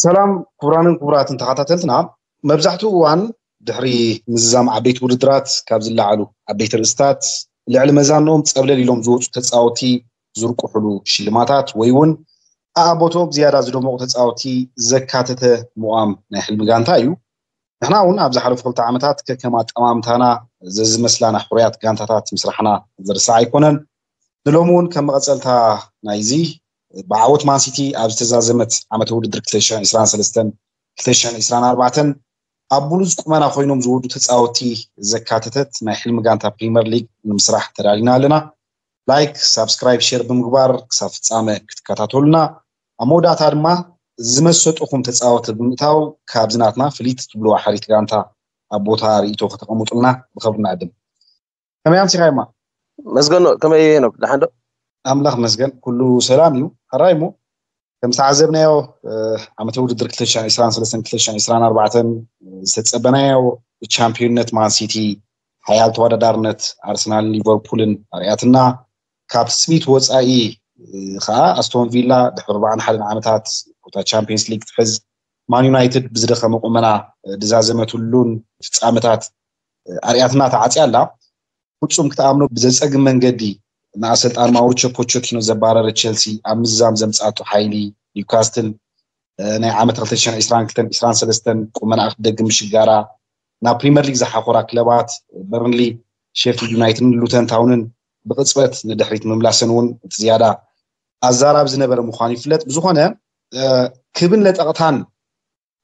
ሰላም ክቡራንን ክቡራትን ተኸታተልትና፣ መብዛሕትኡ እዋን ድሕሪ ምዝዛም ዓበይቲ ውድድራት ካብ ዝለዓሉ ዓበይቲ ርእስታት ልዕሊ መዛንኦም ጸብለል ኢሎም ዝወፁ ተጻወቲ ዝርቁሕሉ ሽልማታት ወይ እውን ኣኣቦትኦም ዝያዳ ዝደመቑ ተጻወቲ ዘካተተ ምቋም ናይ ሕልሚ ጋንታ እዩ። ንሕና እውን ኣብ ዝሓለፉ ክልተ ዓመታት ከከም ኣጠማምታና ዘዝመስላና ሕሩያት ጋንታታት ምስራሕና ዝርሳዕ ኣይኮነን። ንሎሚ እውን ከም መቐጸልታ ናይዚ ብዓወት ማንሲቲ ኣብ ዝተዛዘመት ዓመተ ውድድር ክልተ ሺሕን ዕስራን ሰለስተን ክልተ ሺሕን ዕስራን ኣርባዕተን ኣብ ብሉጽ ቁመና ኮይኖም ዝወዱ ተጻወቲ ዘካተተት ናይ ሕልሚ ጋንታ ፕሪምየር ሊግ ንምስራሕ ተዳሊና ኣለና። ላይክ፣ ሳብስክራይብ፣ ሼር ብምግባር ክሳብ ፍጻመ ክትከታተሉና፣ ኣብ መወዳእታ ድማ ዝመሰጥኹም ተጻወቲ ብምእታው ካብዚ ናትና ፍልይቲ ትብልዋ ሕሪት ጋንታ ኣብ ቦታ ርእይቶ ከተቐምጡልና ብኸብሪ ንዕድም። ከመይ ኣምሲኻዮማ? መስገኖ፣ ከመይ ሄኖክ? ደሓን ዶ? ኣምላኽ መስገን፣ ኩሉ ሰላም እዩ። ሕራይ እሞ፣ ከም ዝተዓዘብናዮ፣ እ፣ ዓመተ ውድድር ክልተ ሺሕን ዕስራን ሰለስተን ክልተ ሺሕን ዕስራን ኣርባዕተን ዝተጸበናዮ ቻምፒዮንነት ማን ሲቲ፣ ሓያል ተወዳዳርነት ኣርሰናልን ሊቨርፑልን ኣርእያትና፣ ካብ ስሚት ወጻኢ፣ እ፣ ኸኣ ኣስቶን ቪላ ድሕሪ ኣርባዓን ሓደን ዓመታት ቦታ ቻምፒዮንስ ሊግ ትሕዝ፣ ማን ዩናይትድ ብዝደኸመ ቁመና፣ እ፣ ድዛዘመትሉን ፍጻመታት፣ እ፣ ኣርእያትና ተዓጽያ ኣላ። ፍጹም ክትኣምኖ ብዘጸግም መንገዲ ንኣሰልጣን ማውሪቾ ፖቸቲኖ ዘባረረ ቸልሲ ኣብ ምዝዛም ዘምጻቶ ሓይሊ፣ ኒውካስትል፣ እ፣ ናይ ዓመት ክልተ ሺሕን ዕስራን ክልተን ዕስራን ሰለስተን ቁመናኣ ክትደግም ምሽጋራ፣ ናብ ፕሪምየር ሊግ ዝሓኾራ ክለባት በርንሊ፣ ሼፊልድ ዩናይትድን ሉተን ታውንን ብቕጽበት ንድሕሪት ምምላሰን እውን እቲ ዝያዳ ኣዛራቢ ዝነበረ ምዃኑ ይፍለጥ። ብዝኾነ፣ እ፣ ክብን ለጠቕታን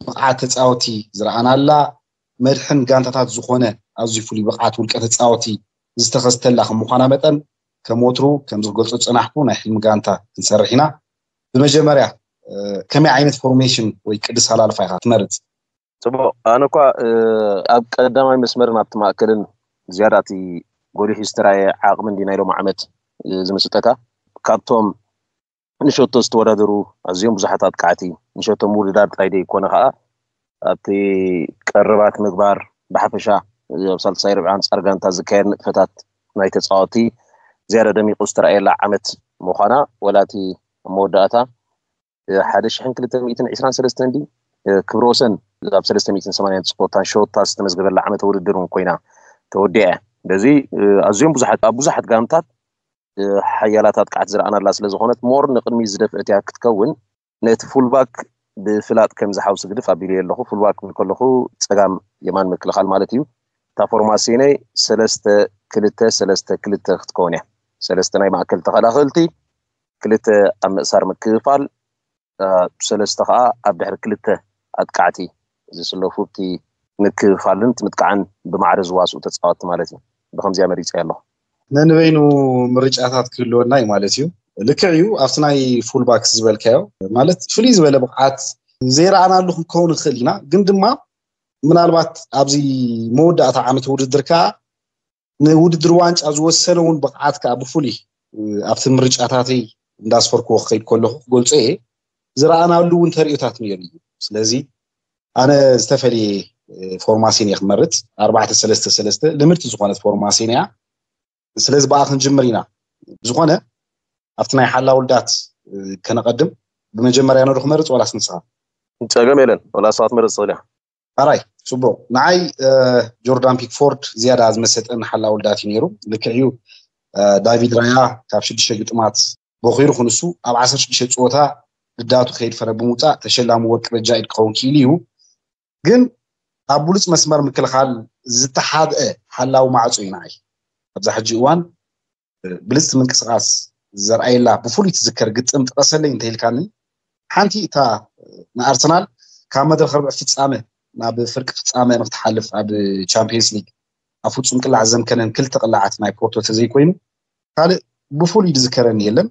ብቕዓት ተጻወቲ ዝረኣናላ፣ መድሕን ጋንታታት ዝኾነ ኣዝዩ ፍሉይ ብቕዓት ውልቀ ተጻወቲ ዝተኸስተላ ከም ምዃና መጠን፣ ከም ወትሩ ከምዚ ክገልጾ ዝጸናሕኩ ናይ ሕልሚ ጋንታ ክንሰርሕ ኢና። ብመጀመርያ፣ እ፣ ከመይ ዓይነት ፎርሜሽን ወይ ቅዲ ኣሰላልፋ ኢኻ ትመርጽ? ጽቡቕ። ኣነ እኳ፣ እ፣ ኣብ ቀዳማይ መስመርን ኣብቲ ማእከልን ዝያዳ እቲ ጎሊሑ ዝተራየ ዓቕሚ እንዲ ናይ ሎም ዓመት፣ እ፣ ዝምስጠካ። ካብቶም ንሸቶ ዝተወዳደሩ ኣዝዮም ብዙሓት ኣጥቃዕቲ፣ ንሸቶ ምውድዳር ጥራይ ዘይኮነ ከኣ ኣብቲ ቀረባት ምግባር ብሓፈሻ፣ እ፣ ኣብ ሳልሳይ ርብዒ ኣንጻር ጋንታ ዝካየድ ንጥፈታት ናይ ተጻወቲ ዝያዳ ደሚቑ ዝተራእየላ ዓመት ምዃና፣ ወላ እቲ ኣብ መወዳእታ ሓደ ሽሕን ክልተ ሚእትን ዕስራን ሰለስተን ድዩ፣ እ፣ ክብረ ወሰን ኣብ ሰለስተ ሚእትን ሰማንያን ስፖርታን ሾታ ዝተመዝገበላ ዓመተ ውድድር እውን ኮይና ተወዲኣ እያ። በዚ፣ እ፣ ኣዝዮም ብዙሓት፣ ኣብ ብዙሓት ጋንታት፣ እ፣ ሓያላት ኣጥቃዕቲ ዝረኣናላ ስለ ዝኾነት፣ ሞር ንቕድሚት ዝደፍአት እያ ክትከውን። ነቲ ፉልባክ ብፍላጥ ከም ዝሓውስ ግድፍ ኣቢለዮ ኣለኹ። ፉልባክ ክብል ከለኹ ጸጋም የማን ምክልኻል ማለት እዩ። እታ ፎርማሲነይ ሰለስተ ክልተ ሰለስተ ክልተ ክትከውን እያ። ሰለስተ ናይ ማእከል ተኸላኸልቲ፣ ክልተ ኣብ ምእሳር ምክፍፋል፣ እ፣ ሰለስተ ኸኣ ኣብ ድሕሪ ክልተ ኣጥቃዕቲ ዝስለፉ፣ እቲ ምክፍፋልን እቲ ምጥቃዕን ብማዕረ ዝዋስኡ ተጻወትቲ ማለት እዩ። ብኸምዚኣ መሪጸ ኣለኹ። ነንበይኑ ምርጫታት ክህልወና እዩ ማለት እዩ። ልክዕ እዩ፣ ኣብቲ ናይ ፉልባክ ዝበልካዮ ማለት ፍሉይ ዝበለ ብቕዓት ዘይረኣናሉ ክንከውን ንኽእል ኢና፣ ግን ድማ ምናልባት ኣብዚ መወዳእታ ዓመት ውድድር ከኣ ንውድድር ዋንጫ ዝወሰነ እውን ብቕዓት ከኣ ብፍሉይ፣ እ፣ ኣብቲ ምርጫታተይ እንዳስፈርክዎ ክኸይድ ከለኹ ክገልጾ እየ። ዝረኣናሉ እውን ተርእዮታት ነይሩ እዩ። ስለዚ ኣነ ዝተፈልየ፣ እ፣ ፎርማሲን እየ ክመርጽ። ኣርባዕተ ሰለስተ ሰለስተ ልምድቲ ዝኾነት ፎርማሲን እያ። ስለዚ ብኣ ክንጅምር ኢና። ብዝኾነ ኣብቲ ናይ ሓላው ልዳት፣ እ፣ ከነቐድም፣ ብመጀመርያ ነዶ ክመርጽ ዋላስ ንስኻ? ጸገም የለን፣ ዋላ ንስኻ ትመርጽ ትኽእል ኢኻ። ኣራይ፣ ጽቡቕ። ንዓይ፣ እ፣ ጆርዳን ፒክፎርድ ዝያዳ ዝመሰጠኒ ሓላው ልዳት እዩ ነይሩ። ልክዕ እዩ፣ እ፣ ዳቪድ ራያ ካብ ሽዱሽተ ግጥማት ቦኺሩ ክንሱ ኣብ ዓሰርተ ሽዱሽተ ጸወታ ልዳቱ ከይድፈረ ብምውጻእ ተሸላሚ ወርቂ በጃ ኢድ ክኸውን ክኢሉ እዩ። ግን ኣብ ብሉጽ መስመር ምክልኻል ዝተሓብአ ሓላው ማዕጾ እዩ ንዓይ። ኣብዛ ሕጂ እዋን ብልጽቲ ምንቅስቓስ ዘርኣየላ ብፍሉይ ትዝከር ግጥም ጥቀሰለይ እንተኢልካኒ፣ ሓንቲ እታ ንኣርሰናል ካብ መድረኽ ርብዒ ፍጻመ ናብ ፍርቂ ፍጻመ ንክትሓልፍ ኣብ ቻምፒየንስ ሊግ ኣብ ፍጹም ቅላዕ ዘምከነን ክልተ ቅላዓት ናይ ፖርቶ ተዘይኮይኑ ካልእ ብፍሉይ ዝዝከረኒ የለን።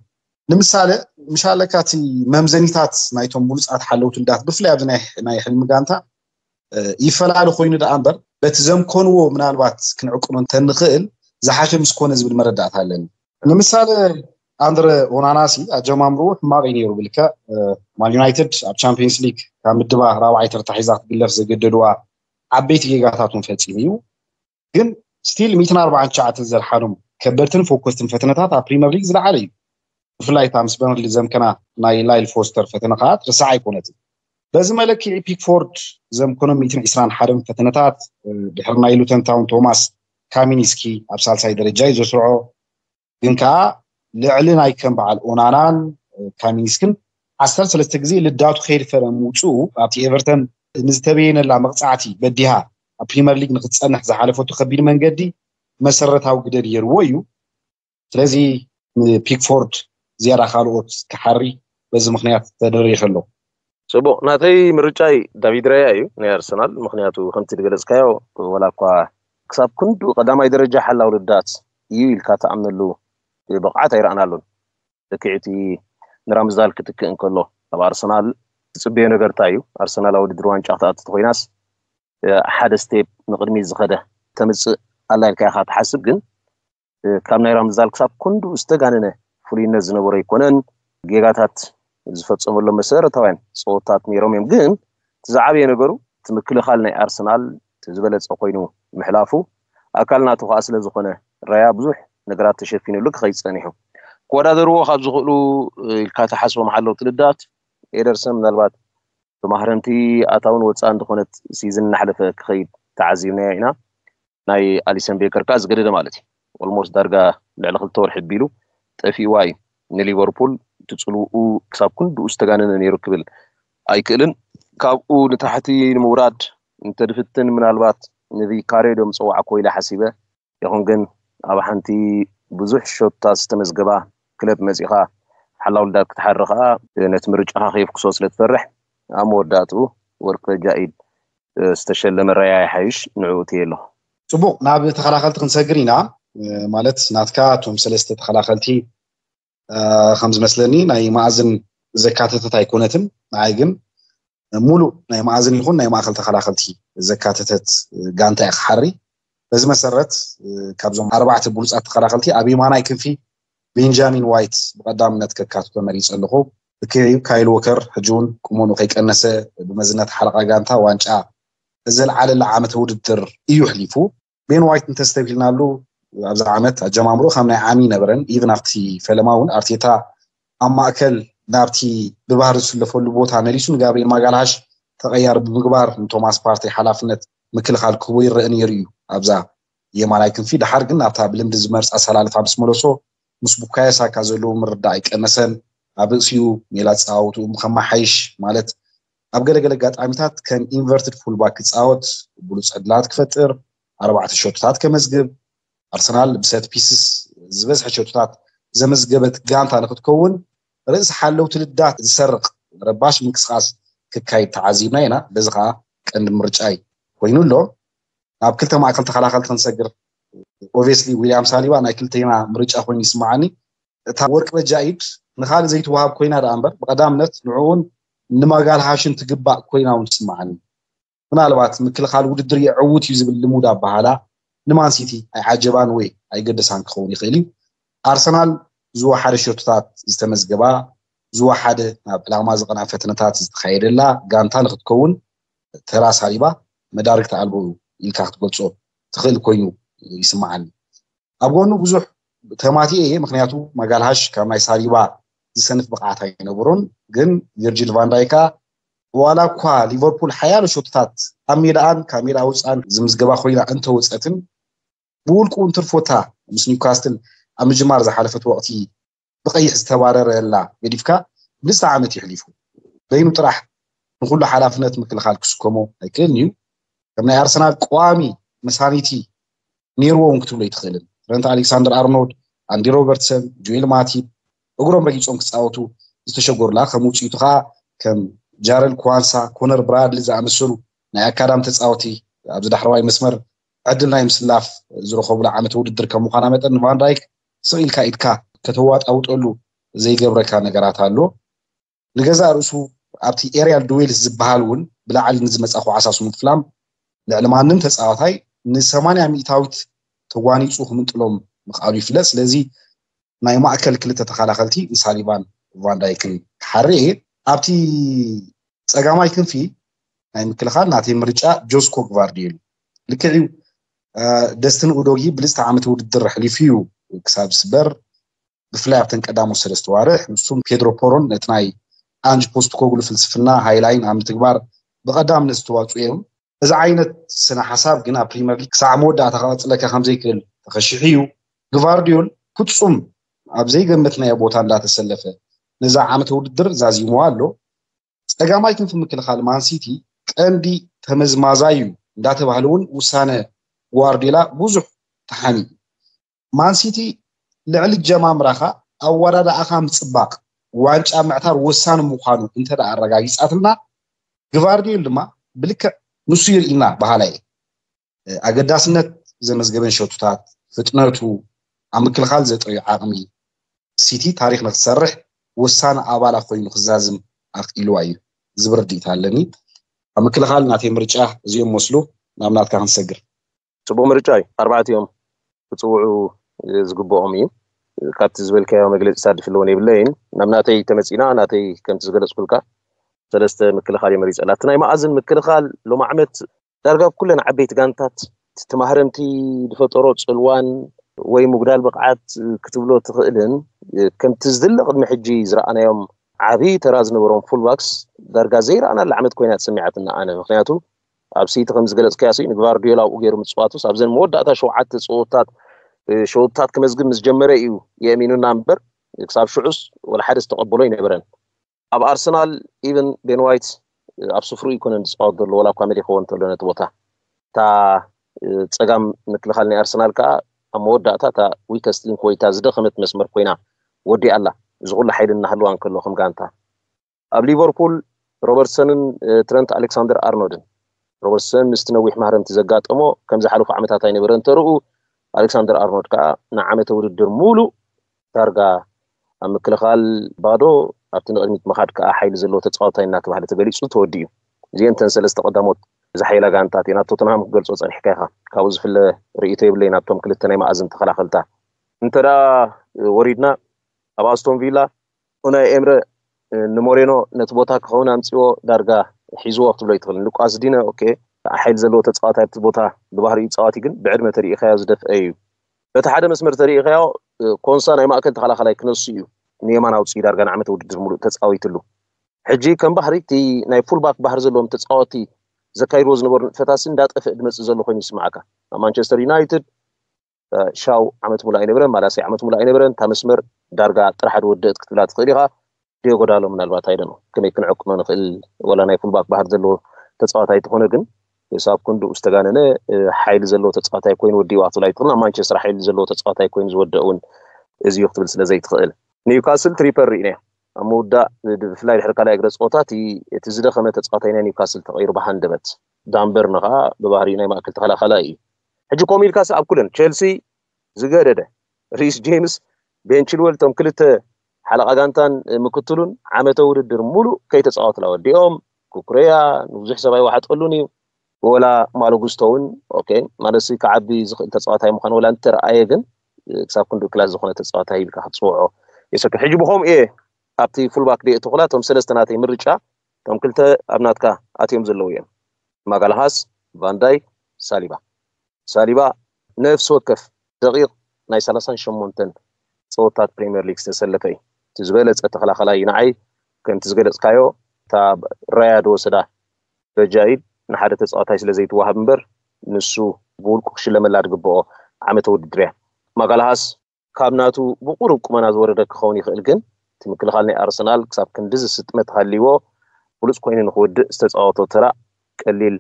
ንምሳሌ፣ ምሻለካ እቲ መምዘኒታት ናይቶም ብሉጻት ሓለውቲ ልዳት ብፍላይ ኣብዚ ናይ፣ ናይ ሕልሚ ጋንታ፣ እ፣ ይፈላለ ኮይኑ ደኣ እምበር፣ በቲ ዘምኮንዎ ምናልባት ክንዕቅኖ እንተንኽእል ዝሓሸ ምስ ኮነ ዝብል መረዳእታ ኣለኒ። ንምሳሌ፣ ኣንድረ ኦናናሲ ኣጀማምርኡ ሕማቕ እዩ ነይሩ ብልክዕ፣ እ፣ ማን ዩናይትድ ኣብ ቻምፒየንስ ሊግ ካብ ምድባ ራብዓይ ተርታ ሒዛ ክትግለፍ ዘገደድዋ ዓበይቲ ጌጋታት እውን ፈጺሙ እዩ። ግን ስቲል ሚእትን ኣርባዓን ትሽዓተን ዘድሓኖም ከበድትን ፎኮስትን ፈተነታት ኣብ ፕሪምየር ሊግ ዝለዓለ እዩ። ብፍላይ እታ ምስ በርንሊ ዘምከና ናይ ላይል ፎስተር ፈተነ ከኣ ትርሳዕ ኣይኮነትን። በዚ መለክዒ ፒክፎርድ ዘም ኮኖም ሚእትን ዕስራን ሓደን ፈተነታት ድሕሪ ናይ ሉተን ታውን ቶማስ ካሚኒስኪ ኣብ ሳልሳይ ደረጃ እዩ ዘስርዖ። ግን ከዓ ልዕሊ ናይ ከም በዓል ኦናናን ካሚኒስክን ዓሰርተ ሰለስተ ግዜ ልዳቱ ከይድፈረ ምውፅኡ ኣብቲ ኤቨርተን ንዝተበየነላ መቕፃዕቲ በዲሃ ኣብ ፕሪመር ሊግ ንክትፀንሕ ዝሓለፈቱ ከቢድ መንገዲ መሰረታዊ ግደ ገይርዎ እዩ። ስለዚ ንፒክፎርድ ዝያዳ ካልኦት ክሓሪ በዚ ምክንያት ተደሪኸ ኣሎ። ጽቡቕ፣ ናተይ ምርጫይ ዳቪድ ራያ እዩ ናይ ኣርሰናል። ምክንያቱ ከምቲ ዝገለጽካዮ፣ ወላ እኳ ክሳብ ክንዱ ቀዳማይ ደረጃ ሓላው ልዳት እዩ ኢልካ ትኣምነሉ ብቕዓት ኣይረኣናሉን። ልክዕቲ ንራምዝዳል ክትክእ እንከሎ ኣብ ኣርሰናል ትጽበዮ ነገር እንታይ እዩ? ኣርሰናል ኣብ ውድድር ዋንጫ ክትኣቱ ተኮይናስ ሓደ ስቴፕ ንቕድሚት ዝኸደ ተምጽእ ኣላ ኢልካ ኢኻ ትሓስብ። ግን ካብ ናይ ራምዝዳል ክሳብ ክንዱ ዝተጋነነ ፍሉይነት ዝነበሮ ኣይኮነን። ጌጋታት ዝፈጸመሎም መሰረታውያን ጸወታት ነይሮም እዮም። ግን እቲ ዝዓበየ ነገሩ እቲ ምክልኻል ናይ ኣርሰናል ዝበለጸ ኮይኑ ምሕላፉ ኣካል ናቱ ከዓ ስለ ዝኾነ ራያ ብዙሕ ነገራት ተሸፊኑሉ ክኸይድ ጸኒሑ። ክወዳደርዎ ካብ ዝኽእሉ ኢልካ ተሓስቦም ሓለውቲ ልዳት ኤደርሰን ምናልባት ብማህረምቲ ኣታውን ወፃእን ዝኾነት ሲዝን እናሕለፈ ክኸይድ ተዓዚብናዮ ኢና። ናይ ኣሊሰን ቤከር ከዓ ዝገደደ ማለት እዩ። ኦልሞስት ዳርጋ ልዕሊ ክልተ ወርሒ ቢሉ ጠፊእዋ እዩ። ንሊቨርፑል እቲ ፅልውኡ ክሳብ ክንድኡ ዝተጋነነ ነይሩ ክብል ኣይክእልን። ካብኡ ንታሕቲ ንምውራድ እንተድፍትን ምናልባት ንቪካሬዶ ምፀዋዕኮ ኢለ ሓሲበ። ይኹን ግን ኣብ ሓንቲ ብዙሕ ሾትታት ዝተመዝገባ ክለብ መፂኻ ሓላው ልዳት ክትሓሪ ከዓ ነቲ ምርጫኻ ከየፍክሶ ስለ ትፈርሕ ኣብ መወዳእትኡ ወርቂ ጃኢድ ዝተሸለመ ራያ ይሓይሽ ንዕኡ እትየ ኣለኹ። ጽቡቕ፣ ናብ ተኸላኸልቲ ክንሰግር ኢና። ማለት ናትካ እቶም ሰለስተ ተኸላኸልቲ ከም ዝመስለኒ ናይ መኣዝን ዘካተተት ኣይኮነትን። ንዓይ ግን ሙሉእ ናይ መኣዝን ይኹን ናይ ማእኸል ተኸላኸልቲ ዘካተተት ጋንታ እየ ክሓሪ። በዚ መሰረት ካብዞም ኣርባዕተ ብሉፃት ተኸላኸልቲ ኣብ የማናይ ክንፊ ቤንጃሚን ዋይት ብቐዳምነት ከካትቶ መሪፀ ኣለኹ። ብክዕዩ ካይል ወከር ሕጂ እውን ቁመኑ ከይቀነሰ ብመዝነት ሓለቓ ጋንታ ዋንጫ ዘልዓለላ ዓመተ ውድድር እዩ ኣሕሊፉ። ቤን ዋይት እንተስተብሂልናሉ ኣብዚ ዓመት ኣጀማምሮ ከም ናይ ዓሚ ነበረን። ኢቭን ኣብቲ ፈለማ እውን ኣርቴታ ኣብ ማእከል ናብቲ ብባህሪ ዝስለፈሉ ቦታ መሊሱ ንጋብሪኤል ማጋልሃሽ ተቐያሪ ብምግባር ንቶማስ ፓርቴ ሓላፍነት ምክልኻል ክህቦ ይረአ ነይሩ እዩ ኣብዛ የማናይ ክንፊ። ድሓር ግን ናብታ ብልምዲ ዝመርፃ ኣሰላልፋ ምስ መለሶ ምስ ቡካዮ ሳካ ዘለዎ ምርዳእ ኣይቀነሰን። ኣብ ርእሲኡ ሜላ ኣፀዋውትኡ ከመሓይሽ ማለት ኣብ ገለገለ ኣጋጣሚታት ከም ኢንቨርትድ ፉልባክ ክፃወት ብሉፅ ዕድላት ክፈጥር፣ ኣርባዕተ ሸቶታት ከመዝግብ፣ ኣርሰናል ብሰት ፒስስ ዝበዝሐ ሸቶታት ዘመዝገበት ጋንታ ንክትከውን ርእሲ ሓለውቲ ልዳት ዝሰርቕ ረባሽ ምንቅስቃስ ክካይድ ተዓዚብና ኢና። በዚ ከዓ ቀንዲ ምርጫይ ኮይኑ ኣሎ። ናብ ክልተ ማእከል ተኸላኸልቲ ክንሰግር፣ ኦብስሊ ዊልያም ሳሊባ ናይ ክልተና ምርጫ ኮይኑ ይስማዓኒ። እታ ወርቂ በጃ ኢድ ንኻልእ ዘይትወሃብ ኮይና ደኣ እምበር ብቐዳምነት ንዕኡን ንማጋልሃሽን ትግባእ ኮይና እውን ትስማዓኒ። ምናልባት ምክልኻል ውድድር የዕውት እዩ ዝብል ልሙድ ኣበሃላ ንማን ሲቲ ኣይዓጀባን ወይ ኣይገደሳን ክኸውን ይኽእል እዩ። ኣርሰናል ዝወሓደ ሸቶታት ዝተመዝገባ፣ ዝወሓደ ናብ ዕላማ ዝቐና ፈተነታት ዝተኻየደላ ጋንታ ንክትከውን ተራ ሳሊባ መዳርግቲ ኣልቦ ኢልካ ክትገልጾ ትኽእል ኮይኑ ይስምዓኒ። ኣብ ጎኑ ብዙሕ ተማቲኤ እየ፣ ምክንያቱ ማጋልሃሽ ካብ ናይ ሳሊባ ዝሰንፍ ብቕዓት ኣይነበሮን። ግን ቪርጂል ቫንዳይካ ዋላ እኳ ሊቨርፑል ሓያሎ ሸቶታት ኣብ ሜዳኣን ካብ ሜዳ ወፃን ዝምዝገባ ኮይና እንተወፀትን ብውልቁ እንትርፎታ ምስ ኒውካስትል ኣብ ምጅማር ዝሓለፈት ወቕቲ ብቐይሕ ዝተባረረላ ገዲፍካ ብልስተ ዓመት ይሕሊፉ በይኑ ጥራሕ ንኩሉ ሓላፍነት ምክልኻል ክስከሞ ኣይክእልን እዩ። ከም ናይ ኣርሰናል ቀዋሚ መሳኒቲ ነይርዎ እውን ክትብሎ ኣይትኽእልን። ትረንት ኣሌክሳንደር ኣርኖልድ፣ ኣንዲ ሮበርትሰን፣ ጆኤል ማቲብ እግሮም ረጊፆም ክፃወቱ ዝተሸገሩላ ከም ውፅኢቱ ከዓ ከም ጃረል ክዋንሳ፣ ኮነር ብራድሊ ዝኣመሰሉ ናይ ኣካዳሚ ተፃወቲ ኣብዚ ዳሕረዋይ መስመር ዕድል ናይ ምስላፍ ዝረኸቡላ ዓመተ ውድድር ከም ምዃና መጠን ንቫንዳይክ ስቕ ኢልካ ኢድካ ከተዋጣውጠሉ ዘይገብረካ ነገራት ኣሎ። ንገዛእ ርእሱ ኣብቲ ኤሪያል ዱዌልስ ዝበሃል እውን ብላዕሊ ንዝመፃ ኩዓሳ ስሙት ፍላም ልዕሊ ማንም ተፃዋታይ ንሰማንያ ሚእታዊት ተጓኒፁ ክምንጥሎም ምኽኣሉ ይፍለጥ። ስለዚ ናይ ማእከል ክልተ ተኸላኸልቲ ንሳሊባን ቫንዳይክን ክሓሪ እየ። ኣብቲ ፀጋማይ ክንፊ ናይ ምክልኻል ናተይ ምርጫ ጆስኮ ግቫርዲዮል ልክዕ እዩ። ደስትን ኡዶጊ ብልፅቲ ዓመት ውድድር ኣሕሊፉ እዩ ክሳብ ዝስበር ብፍላይ ኣብተን ቀዳሞት ሰለስተ ዋርሕ ንሱን ፔድሮ ፖሮን ነቲ ናይ ኣንጅ ፖስት ኮግሉ ፍልስፍና ሃይላይን ኣብ ምትግባር ብቐዳምነት ዝተዋፅኡ እዮም። እዚ ዓይነት ስነ ሓሳብ ግን ኣብ ፕሪምየር ሊግ ክሳዕ መወዳእታ ከቐፅለካ ከምዘይክእል ተኸሺሑ እዩ። ግቫርዲዮል ፍፁም ኣብ ዘይገመትናዮ ቦታ እንዳተሰለፈ ነዛ ዓመተ ውድድር ዛዚምዋ ኣሎ። ጸጋማይ ክንፊ ምክልኻል ማንሲቲ ቀንዲ ተመዝማዛይ እዩ እንዳተባህለ እውን ውሳነ ጓርዲዮላ ብዙሕ ተሓኒ እዩ። ማንሲቲ ልዕሊ ጀማምራኻ ኣወዳድኣኻ ምጽባቕ ዋንጫ ምዕታር ወሳኒ ምዃኑ እንተ ደኣ ኣረጋጊጻትና፣ ግቫርዲዮል ድማ ብልክዕ ንሱ ይርኢና በሃላይ እየ። ኣገዳስነት ዘመዝገበን ሸቶታት፣ ፍጥነቱ፣ ኣብ ምክልኻል ዘጥረዮ ዓቕሚ፣ ሲቲ ታሪኽ ንክትሰርሕ ወሳኒ ኣባላ ኮይኑ ክዛዝም ኣኽኢልዋ እዩ ዝብል ርድኢት ኣለኒ። ኣብ ምክልኻል ናተይ ምርጫ እዚኦም መስሉ። ናብ ናትካ ክንሰግር። ፅቡቅ ምርጫ እዩ። ኣርባዕቲኦም ክፅውዑ ዝግብኦም እዩ። ካብቲ ዝበልካዮ መግለፂታት ድፍለውን የብለይን። ናብ ናተይ ተመፂና፣ ናተይ ከምቲ ዝገለፅኩልካ ሰለስተ ምክልኻል እየ መሪፀላ። እቲ ናይ መኣዝን ምክልኻል ሎም ዓመት ዳርጋ ኩለን ዓበይቲ ጋንታት ትማህረምቲ ዝፈጠሮ ፅልዋን ወይ ምጉዳል ብቕዓት ክትብሎ ትኽእልን፣ ከምቲ ዝድለ ቅድሚ ሕጂ ዝረኣናዮም ዓብዪ ተራ ዝነበሮም ፉልባክስ ዳርጋ ዘይረኣናላ ዓመት ኮይና ተሰሚዓትና ኣነ። ምክንያቱ ኣብ ሲቲ ከም ዝገለፅካዮ ሲ ንግቫርዲዮላ ኣብኡ ገይሩ ምፅዋቱስ ኣብዘን መወዳእታ ሸውዓተ ፀወታት ሸውታት ክመዝግብ ምስ ጀመረ እዩ የእሚኑና እምበር ክሳብ ሽዑስ ወላ ሓደ ዝተቐበሎ ኣይነበረን። ኣብ ኣርሰናል ኢቨን ቤን ዋይት ኣብ ስፍሩ ኣይኮነን ዝፃወት ዘሎ፣ ወላ እኳ መሊኽዎ እንተሎ ነቲ ቦታ። እታ ፀጋም ምክልኻል ናይ ኣርሰናል ከዓ ኣብ መወዳእታ እታ ዊከስት ሊንክ ወይ እታ ዝደኸመት መስመር ኮይና ወዲኣ ኣላ። እዚ ኩሉ ሓይሊ እናሃለዋ እንከሎ ከም ጋንታ ኣብ ሊቨርፑል ሮበርትሰንን ትረንት ኣሌክሳንደር ኣርኖድን። ሮበርትሰን ምስቲ ነዊሕ ማህረምቲ ዘጋጠሞ ከም ዝሓለፉ ዓመታት ኣይነበረን ተርኡ። ኣሌክሳንደር ኣርኖድ ከዓ ንዓመተ ውድድር ሙሉእ ዳርጋ ኣብ ምክልኻል ባዶ፣ ኣብቲ ንቕድሚት ምኻድ ከዓ ሓይሊ ዘለዎ ተፃዋታይ እናተባህለ ተገሊፁ ተወዲኡ። እዚአን እተን ሰለስተ ቀዳሞት ዝሓይላ ጋንታት እየን። ኣብ ቶተንሃም ክገልፆ ፀኒሕካ ኢኻ። ካብኡ ዝፍለ ርእይቶ የብለይን ኣብቶም ክልተ ናይ መኣዝን ተኸላኸልታ። እንተ ደኣ ወሪድና ኣብ ኣስቶን ቪላ ኡናይ ኤምረ ንሞሬኖ ነቲ ቦታ ክኸውን ኣምፅዎ ዳርጋ ሒዝዎ ክትብሎ ይትኽእል። ሉቃስ ዲነ ኦኬ ሓይል ዘለዎ ተፃዋታይ ኣብቲ ቦታ ብባህሪኡ ፃዋቲ ግን ብዕድመ ተሪኢኻዮ ዝደፍአ እዩ። በቲ ሓደ መስመር ተሪኢኻዮ ኮንሳ ናይ ማእከል ተኸላኸላይ ክነሱ እዩ ንየማን ኣውፅኡ ዳርጋ ንዓመት ውድድር ሙሉእ ተፃዊትሉ። ሕጂ ከም ባህሪ እቲ ናይ ፉልባክ ባህሪ ዘለዎም ተፃወቲ ዘካይድዎ ዝነበሩ ንጥፈታሲ እንዳጠፍእ ዝመፅእ ዘሎ ኮይኑ ይስማዓካ። ኣብ ማንቸስተር ዩናይትድ ሻው ዓመት ሙሉእ ኣይነበረን፣ ማላሲ ዓመት ሙሉእ ኣይነበረን። እታ መስመር ዳርጋ ጥራሕ ዝወደእት ክትብላ ትኽእል ኢኻ። ዲዮጎ ዳሎ ምናልባት ኣይደን ከመይ ክንዕቅኖ ንኽእል ወላ ናይ ፉልባክ ባህር ዘለዎ ተፃዋታይ ተኾነ ግን ሳብ ክንድኡ ዝተጋነነ ሓይሊ ዘለዎ ተፃዋታይ ኮይኑ ወዲእዋ ክትብላ ኣይትኽእል። ኣብ ማንቸስተር ሓይሊ ዘለዎ ተፃዋታይ ኮይኑ ዝወደእ እውን እዚ እዩ ክትብል ስለ ዘይትኽእል። ኒውካስል ትሪፐር ርኢናዮ ኣብ ምውዳእ ብፍላይ ድሕሪ ካልኣይ እግረ ፀወታ እቲ ዝደኸመ ተፃዋታይ ናይ ኒውካስል ተቐይሩ ብሃንደበት ዳንበርን ከዓ ብባህሪኡ ናይ ማእከል ተኸላኸላይ እዩ። ሕጂ ከምኡ ኢልካስ ኣብ ኩለን ቸልሲ ዝገደደ ሪስ ጄምስ ቤን ቺልወል እቶም ክልተ ሓለቓ ጋንታን ምክትሉን ዓመተ ውድድር ሙሉእ ከይተፃወትላ ወዲኦም። ኩኩረያ ንብዙሕ ሰብ ኣይወሓጠሉን እዩ። ወላ ማሎ ጉስቶ እውን ኦኬ ማለትሲ ክዓቢ ዝኽእል ተፃዋታይ ምዃኑ ወላ እንተረኣየ ግን ክሳብ ክንዱ ክላስ ዝኾነ ተፃዋታይ ኢልካ ክትፅውዖ የሰክፍ። ሕጂ ብኸምኡ እየ ኣብቲ ፉልባክ ደየ እትኹላ እቶም ሰለስተ ናተይ ምርጫ እቶም ክልተ ኣብ ናትካ ኣትዮም ዘለዉ እዮም። ማጋላሃስ፣ ቫንዳይክ፣ ሳሊባ። ሳሊባ ነፍሲ ወከፍ ደቂቕ ናይ ሰላሳን ሸሞንተን ፀወታት ፕሪምየር ሊግ ዝተሰለፈ እዩ። እቲ ዝበለፀ ተኸላኸላይ እዩ ንዓይ። ከምቲ ዝገለፅካዮ እታ ራያ ዝወሰዳ በጃ ኢድ ንሓደ ተፃዋታይ ስለ ዘይትወሃብ እምበር ንሱ ብውልቁ ክሽለመላ ዝግብኦ ዓመተ ውድድር እያ። ማጋላሃስ ካብ ናቱ ብቁሩብ ቁመና ዝወረደ ክኸውን ይኽእል፣ ግን እቲ ምክልኻል ናይ ኣርሰናል ክሳብ ክንድዚ ስጥመት ሃልይዎ ብሉፅ ኮይኑ ንክውድእ ዝተፃወቶ ተራ ቀሊል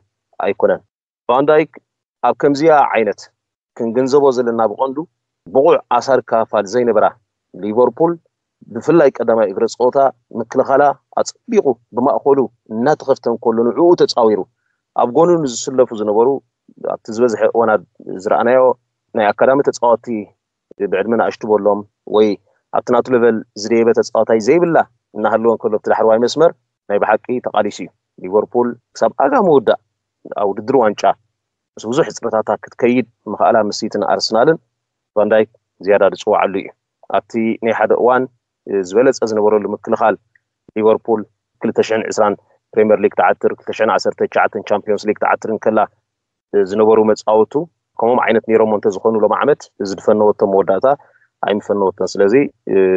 ኣይኮነን። ቫንዳይክ ኣብ ከምዚኣ ዓይነት ክንግንዘቦ ዘለና ብቐንዱ ብቑዕ ኣሳሪ ክፋል ዘይነበራ ሊቨርፑል ብፍላይ ቀዳማይ እግረ ፀወታ ምክልኻላ ኣፀቢቑ ብማእኸሉ እናተኸፍተ እንከሎ ንዕኡ ተፃዊሩ ኣብ ጎኑ ንዝስለፉ ዝነበሩ ኣብቲ ዝበዝሐ እዋናት ዝረኣናዮ ናይ ኣካዳሚ ተፃወቲ ብዕድመ ንኣሽቱ በሎም ወይ ኣብቲ ናቱ ለቨል ዝደየበ ተፃዋታይ ዘይብላ እናሃለወ እንከሎ ኣብቲ ዳሕረዋይ መስመር ናይ ብሓቂ ተቓሊሱ እዩ። ሊቨርፑል ክሳብ ኣጋ ምውዳእ ኣብ ውድድር ዋንጫ ምስ ብዙሕ ሕፅረታታ ክትከይድ ምኽኣላ ምስ ሲትን ኣርሰናልን ቫንዳይክ ዝያዳ ዝፅዋዓሉ እዩ። ኣብቲ ናይ ሓደ እዋን ዝበለፀ ዝነበረሉ ምክልኻል ሊቨርፑል ክልተ ሽሕን ዕስራን ፕሪምየር ሊግ ትዓትር፣ ክልተ ሽሕን ዓሰርተ ትሽዓተን ቻምፒዮንስ ሊግ ትዓትር እንከላ ዝነበሩ መፃወቱ ከምኦም ዓይነት ነይሮሞ እንተዝኾኑ ሎም ዓመት እዚ ዝፈነወቶ መወዳእታ ኣይምፈነወቶን። ስለዚ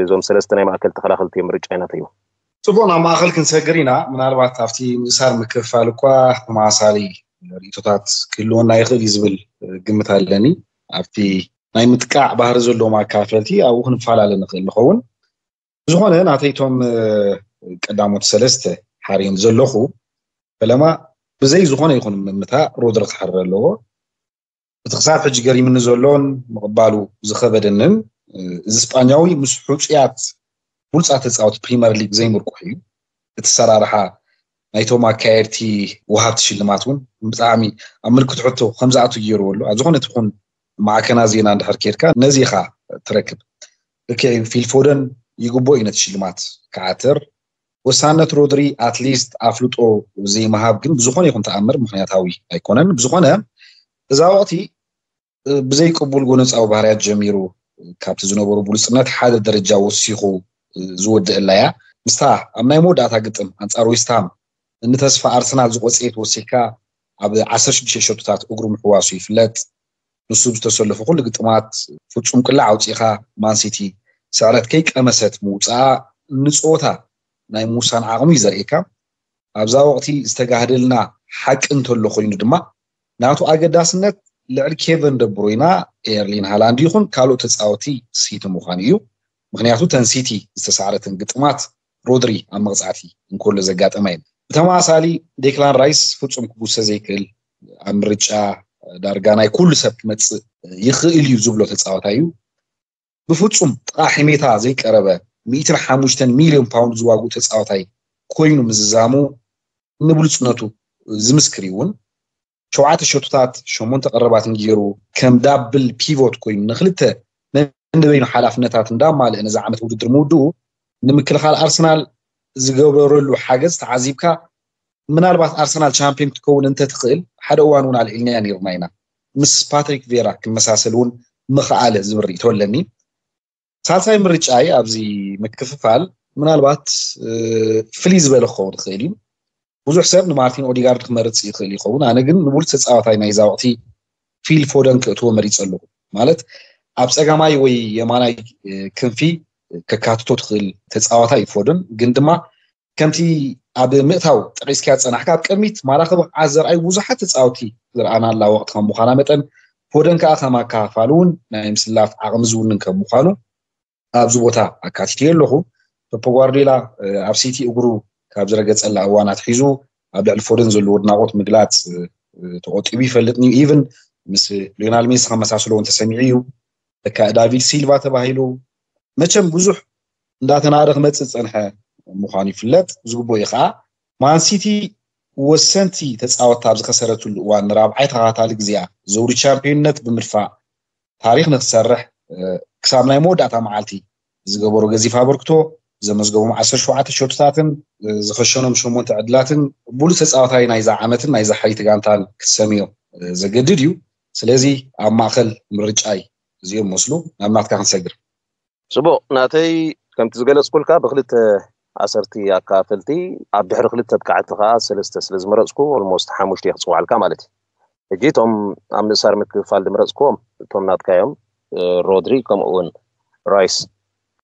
እዞም ሰለስተ ናይ ማእከል ተኸላኸልቲ እዮም ምርጫ ናተይ። ጽቡቕ፣ ናብ ማእኸል ክንሰግር ኢና። ምናልባት ኣብቲ ምእሳር ምክፍፋል እኳ ተመሳሳሊ ርእይቶታት ክህልወና ይኽእል እዩ ዝብል ግምት ኣለኒ። ኣብቲ ናይ ምጥቃዕ ባህሪ ዘለዎም ኣካፈልቲ ኣብኡ ክንፈላለ ንኽእል ንኸውን። ብዝኾነ ናተይቶም ቀዳሞት ሰለስተ ሓርዮም ዘለኹ ፈለማ ብዘይ ዝኾነ ይኹን ምምታ ሮድሪ ክሕረ ኣለዎ። እቲ ክሳብ ሕጂ ገሪምኒ ዘሎን ምቕባሉ ዝኸበደንን እዚ ስጳኛዊ ምስ ሕጹያት ብሉጻት ተጻወቲ ፕሪመር ሊግ ዘይምርኩሕ እዩ። እቲ ሰራርሓ ናይቶም ኣካየድቲ ወሃብቲ ሽልማት እውን ብጣዕሚ ኣብ ምልክት ሕቶ ከም ዝኣቱ ገይርዎ ኣሎ። ኣብ ዝኾነ ትኹን ማዕከና ዜና እንድሕር ኬድካ ነዚ ኢኻ ትረክብ። ልክዕ እዩ፣ ፊል ፎደን ይግቦ እዩ ነቲ ሽልማት ክዓትር። ወሳነት ሮድሪ ኣትሊስት ኣፍልጦ ዘይምሃብ ግን ብዝኾነ ይኹን ተኣምር ምኽንያታዊ ኣይኮነን። ብዝኾነ እዛ ወቕቲ ብዘይቅቡል ጎነፃዊ ባህርያት ጀሚሩ ካብቲ ዝነበሩ ብሉፅነት ሓደ ደረጃ ወሲኹ ዝወድእ እላያ ምስታ ኣብ ናይ መወዳእታ ግጥም ኣንፃር ዌስትሃም እንተስፋ ኣርሰናል ዝቆፀየት ወሲካ ኣብ ዓሰርተ ሽዱሽተ ሸቶታት እግሩ ምሕዋሱ ይፍለጥ። ንሱ ዝተሰለፉ ኩሉ ግጥማት ፍፁም ቅላዕ ኣውፂኻ ማንሲቲ ስዕረት ከይቀመሰት ምውፃኣ ንፀወታ ናይ ምውሳን ዓቕሚ እዩ ዘርእየካ። ኣብዛ ወቕቲ ዝተጋህደልና ሓቂ እንተሎ ኮይኑ ድማ ናቱ ኣገዳስነት ልዕሊ ኬቨን ደብሮይና ኤርሊን ሃላንድ ይኹን ካልኦት ተፃወቲ ሲቲ ምዃኑ እዩ። ምክንያቱ ተን ሲቲ ዝተሳዕረትን ግጥማት ሮድሪ ኣብ መቕፃዕቲ እንከሎ ዘጋጠማ እየን። ብተመሳሳሊ ዴክላን ራይስ ፍፁም ክጉሰ ዘይክእል ኣብ ምርጫ ዳርጋ ናይ ኩሉ ሰብ ክመፅእ ይኽእል እዩ ዝብሎ ተፃዋታይ እዩ። ብፍፁም ጥቓ ሕሜታ ዘይቀረበ ሚእትን ሓሙሽተን ሚልዮን ፓውንድ ዝዋግኡ ተፃዋታይ ኮይኑ ምዝዛሙ ንብሉፅነቱ ዝምስክር እዩ እውን። ሸውዓተ ሸቶታት ሸሞንተ ቀረባትን ገይሩ ከም ዳብል ፒቮት ኮይኑ ንክልተ ነንበይኑ ሓላፍነታት እንዳማልአ ነዚ ዓመት ውድድር ምውድኡ ንምክልኻል ኣርሰናል ዝገበረሉ ሓገዝ ተዓዚብካ ምናልባት ኣርሰናል ቻምፒዮን ክትከውን እንተትኽእል ሓደ እዋን እውን ኣልዒልናያ ነይርና ኢና። ምስ ፓትሪክ ቬራ ክመሳሰል እውን ምኽኣለ ዝብል ርእይቶ ኣለኒ። ሳልሳይ ምርጫይ ኣብዚ ምክፍፋል ምናልባት ፍልይ ዝበለ ክኸውን ይኽእል እዩ። ብዙሕ ሰብ ንማርቲን ኦዲጋርድ ክመርጽ ይኽእል ይኸውን። ኣነ ግን ንብሉጽ ተጻዋታይ ናይዛ ወቕቲ ፊል ፎደን ክእትዎ መሪጸ ኣለኹ። ማለት ኣብ ጸጋማይ ወይ የማናይ ክንፊ ከካትቶ ትኽእል ተጻዋታይ እዩ ፎደን፣ ግን ድማ ከምቲ ኣብ ምእታው ጠቒስካዮ ዝጸናሕካ ኣብ ቅድሚት ማራ ክብቕዓት ዘርኣዩ ብዙሓት ተጻወቲ ዝረኣናላ ወቕቲ ከም ምዃና መጠን ፎደን ከኣ ከም ኣካፋፋሊ እውን ናይ ምስላፍ ዓቕሚ ዝውንን ከም ምዃኑ ኣብዚ ቦታ ኣካቲተዮ ኣለኹ። ፔፕ ጓርዲዮላ ኣብ ሲቲ እግሩ ካብ ዝረገጸላ እዋን ኣትሒዙ ኣብ ልዕሊ ፎደን ዘለዎ ኣድናቖት ምግላጽ ተቖጢቡ ይፈልጥን እዩ። ኢቭን ምስ ሊዮናል ሜሲ ከመሳስሎ እውን ተሰሚዑ እዩ። ለካ ዳቪድ ሲልቫ ተባሂሉ መቸም ብዙሕ እንዳተናደ ክመጽእ ዝጸንሐ ምዃኑ ይፍለጥ። ዝግብኦ እዩ ከዓ ማንሲቲ ወሰንቲ ተጻወትቲ ኣብ ዝኸሰረትሉ እዋን ንራብዓይ ተኸታታሊ ግዜኣ ዘውዲ ቻምፒዮንነት ብምድፋእ ታሪኽ ንክትሰርሕ ክሳብ ናይ መወዳእታ መዓልቲ ዝገበሮ ገዚፍ ኣበርክቶ ዘመዝገቦም ዓሰርተ ሸውዓተ ሸቶታትን ዝኸሸኖም ሸሞንተ ዕድላትን ብሉፅ ተፃዋታይ ናይዛ ዓመትን ናይዛ ሓይቲ ጋንታን ክትሰምዮ ዘገድድ እዩ። ስለዚ ኣብ ማእኸል ምርጫይ እዚኦም መስሉ ናብ ናትካ ክንሰግር። ፅቡቕ ናተይ ከምቲ ዝገለፅኩልካ ብክልተ ኣሰርቲ ኣካፈልቲ ኣብ ድሕሪ ክልተ ብቃዕቲ ከዓ ሰለስተ ስለ ዝመረፅኩ ኦልሞስት ሓሙሽተ ክፅዋዕልካ ማለት እዩ። ሕጂ እቶም ኣብ ምእሳር ምክፍፋል ዝመረፅኩዎም እቶም ናትካ እዮም፣ ሮድሪ ከምኡ እውን ራይስ።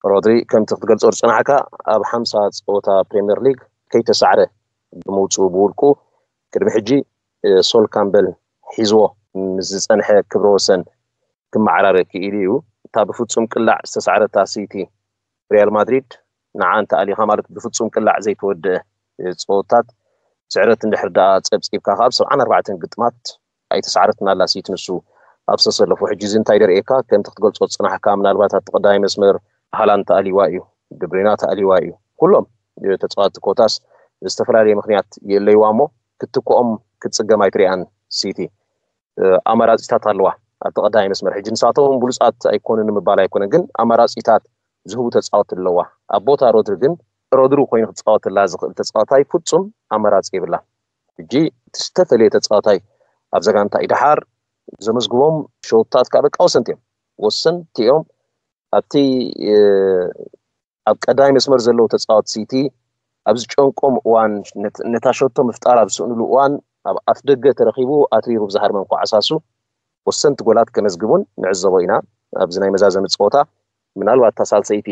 ሮድሪ ከምቲ ክትገልፆ ዝፅናሕካ ኣብ ሓምሳ ፀወታ ፕሪምየር ሊግ ከይተሳዕረ ብምውፅኡ ብውልቁ ቅድሚ ሕጂ ሶል ካምበል ሒዝዎ ምስ ዝፀንሐ ክብረ ወሰን ክመዓራረ ክኢሉ እዩ። እታ ብፍፁም ቅላዕ ዝተሳዕረታ ሲቲ ሪያል ማድሪድ ንዓ እንተኣሊኻ ማለት ብፍፁም ቅላዕ ዘይተወደአ ፀወታት ስዕረት እንድሕር ደኣ ፀብፂብካ ካብ ሰብዓን ኣርባዕተን ግጥማት ኣይተሳዕረትን ኣላ ሲቲ ንሱ ኣብ ዝተሰለፉ። ሕጂ እዚ እንታይ ደርእየካ ከምቲ ክትገልፆ ዝፅናሕካ ምናልባት ኣብቲ ቀዳማይ መስመር ሃላንድ ተኣሊዋ እዩ፣ ድብሪና ተኣሊዋ እዩ። ኩሎም ተፃዋቲ ኮታስ ዝተፈላለየ ምክንያት የለይዋ እሞ ክትትክኦም ክትፅገም ኣይትሪኣን ሲቲ። ኣማራፂታት ኣለዋ ኣብቲ ቀዳማይ መስመር። ሕጂ ንሳቶም ብሉፃት ኣይኮኑን ንምባል ኣይኮነን፣ ግን ኣማራፂታት ዝህቡ ተፃወቲ ኣለዋ። ኣብ ቦታ ሮድሪ ግን ሮድሪ ኮይኑ ክፃወተላ ዝኽእል ተፃዋታይ ፍፁም ኣማራፂ የብላ። ሕጂ እቲ ዝተፈለየ ተፃዋታይ ኣብዛ ጋንታ እዩ። ደሓር ዘመዝግቦም ሸውታት ከዓ በቃ ወሰንቲ እዮም፣ ወሰንቲ እዮም። ኣብቲ ኣብ ቀዳማይ መስመር ዘለዉ ተፃወቲ ሲቲ ኣብ ዝጨንቆም እዋን ነታ ሸቶ ምፍጣር ኣብ ዝስእንሉ እዋን ኣብ ኣፍ ደገ ተረኺቡ ኣትሪሩ ብዝሃርመ እንኳዓሳሱ ወሰንቲ ጎላት ከመዝግቡን ንዕዘቦ ኢና። ኣብዚ ናይ መዛዘሚ ፀወታ ምናልባት እታ ሳልሰይቲ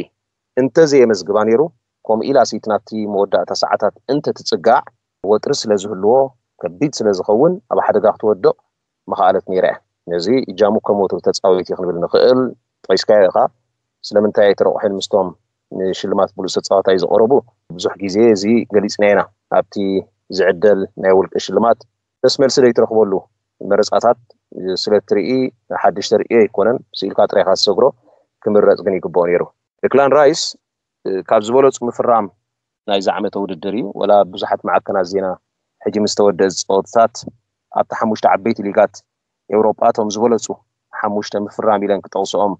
እንተዘየመዝግባ ነይሩ ከምኡ ኢላ ሲቲ ናብቲ መወዳእታ ሰዓታት እንተትጽጋዕ ወጥሪ ስለ ዝህልዎ ከቢድ ስለ ዝኸውን ኣብ ሓደጋ ክትወድቕ ምኽኣለት ነይራ እያ። ነዚ እጃሙ ከም ወትሩ ተጻዊት እዩ ክንብል ንኽእል። ጠቂስካዮ ኢኻ። ስለምንታይ ኣይተረቑሐን ምስቶም ንሽልማት ብሉጽ ተጻዋታይ ዝቐረቡ ብዙሕ ግዜ እዚ ገሊጽና ኢና። ኣብቲ ዝዕደል ናይ ውልቂ ሽልማት ደስ መልሲ ዘይትረኽበሉ መረጻታት ስለ ትርኢ ሓድሽ ተርእዮ ኣይኮነን። ስኢልካ ጥራይካ ዝሰግሮ ክምረጽ ግን ይግብኦ ነይሩ። ደክላን ራይስ ካብ ዝበለጹ ምፍራም ናይዚ ዓመተ ውድድር እዩ። ወላ ብዙሓት ማዕከናት ዜና ሕጂ ምስ ተወደአ ዝጸወትታት ኣብቲ ሓሙሽተ ዓበይቲ ሊጋት ኤውሮጳ እቶም ዝበለጹ ሓሙሽተ ምፍራም ኢለን ክጠቕስኦም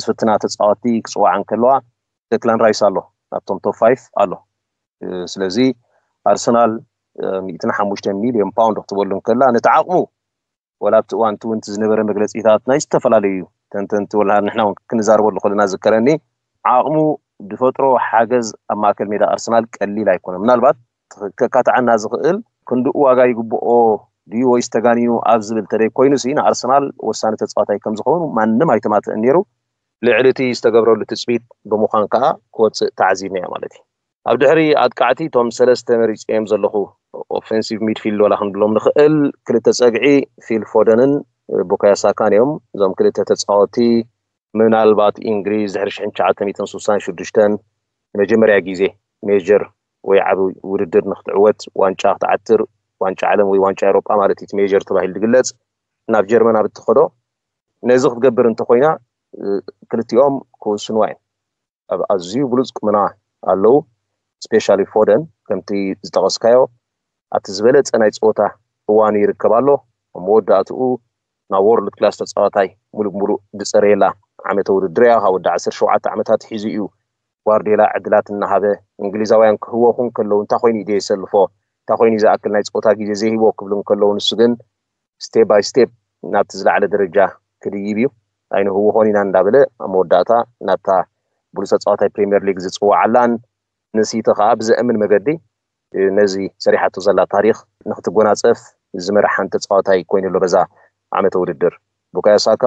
ዝፍትና ተጻወቲ ክጽዋዓ እንከለዋ ደክላን ራይስ ኣሎ ኣብቶም ቶፕ ፋይፍ ኣሎ። ስለዚ ኣርሰናል ሚእትን ሓሙሽተን ሚልዮን ፓውንድ ክትበሉ እንከላ ነቲ ዓቕሙ ወላ ኣብቲ እዋን እቲ እውን ዝነበረ መግለጺታት ናይ ዝተፈላለዩ ተንተንቲ ወላ ንሕና እውን ክንዛረበሉ ከለና ዝከረኒ ዓቕሙ ዝፈጥሮ ሓገዝ ኣብ ማእከል ሜዳ ኣርሰናል ቀሊል ኣይኮነ። ምናልባት ከካትዓና ዝኽእል ክንድኡ ዋጋ ይግብኦ ድዩ ወይስ ተጋኒኑ ኣብ ዝብል ተደይ ኮይኑ ሲ ንኣርሰናል ወሳኒ ተጻዋታይ ከም ዝኸውን ማንም ኣይተማትእን ነይሩ። ልዕሊ እቲ ዝተገብረሉ ትጽቢት ብምዃን ከኣ ክወጽእ ተዓዚብናዮ ማለት እዩ። ኣብ ድሕሪ ኣጥቃዕቲ እቶም ሰለስተ መሪጸዮም ዘለኹ ኦፌንሲቭ ሚድፊልድ ወላ ክንብሎም ንኽእል ክልተ ጸግዒ ፊል ፎደንን ቡካዮ ሳካን እዮም። እዞም ክልተ ተጻወቲ ምናልባት እንግሊዝ ድሕሪ ሽሕን ትሽዓተ ሚእትን ስሳን ሽዱሽተን ንመጀመርያ ግዜ ሜጀር ወይ ዓቢ ውድድር ንክትዕወት ዋንጫ ክትዓትር ዋንጫ ዓለም ወይ ዋንጫ ኤውሮጳ ማለት እዩ እቲ ሜጀር ተባሂሉ ዝግለጽ ናብ ጀርመን ኣብ እትኸዶ ነዚ ክትገብር እንተኮይና ክልቲኦም ክውስንዋ እዮም። ኣብ ኣዝዩ ብሉጽ ቁመና ኣለዉ። ስፔሻሊ ፎደን ከምቲ ዝጠቐስካዮ ኣብቲ ዝበለጸ ናይ ጸወታ እዋኑ ይርከብ ኣሎ። ኣብ መወዳእትኡ ናብ ወርልድ ክላስ ተጻዋታይ ሙሉእ ብሙሉእ ዝጸረየላ ዓመተ ውድድር እያ። ካብ ወዲ ዓሰርተ ሸውዓተ ዓመታት ሒዙ እዩ ጓርዲዮላ ዕድላት እናሃበ እንግሊዛውያን ክህወኹ እንከለዉ እንታይ ኮይኑ እዩ ዘየሰልፎ እንታይ ኮይኑ እዩ ዝኣክል ናይ ጸወታ ግዜ ዘይህቦ ክብሉ እንከለዉ ንሱ ግን ስቴፕ ባይ ስቴፕ ናብቲ ዝለዓለ ደረጃ ክድይብ እዩ። ኣይንህውኾን ኢና እንዳበለ ኣብ መወዳእታ ናብታ ብሉፅ ተፃዋታይ ፕሪምየር ሊግ ዝፅዋዓላን ንሲቲ ከዓ ብዘእምን መገዲ ነዚ ሰሪሓቶ ዘላ ታሪክ ንክትጎናፀፍ ዝመርሓን ተፃዋታይ ኮይኑ ኣሎ በዛ ዓመተ ውድድር። ቡካዮ ሳካ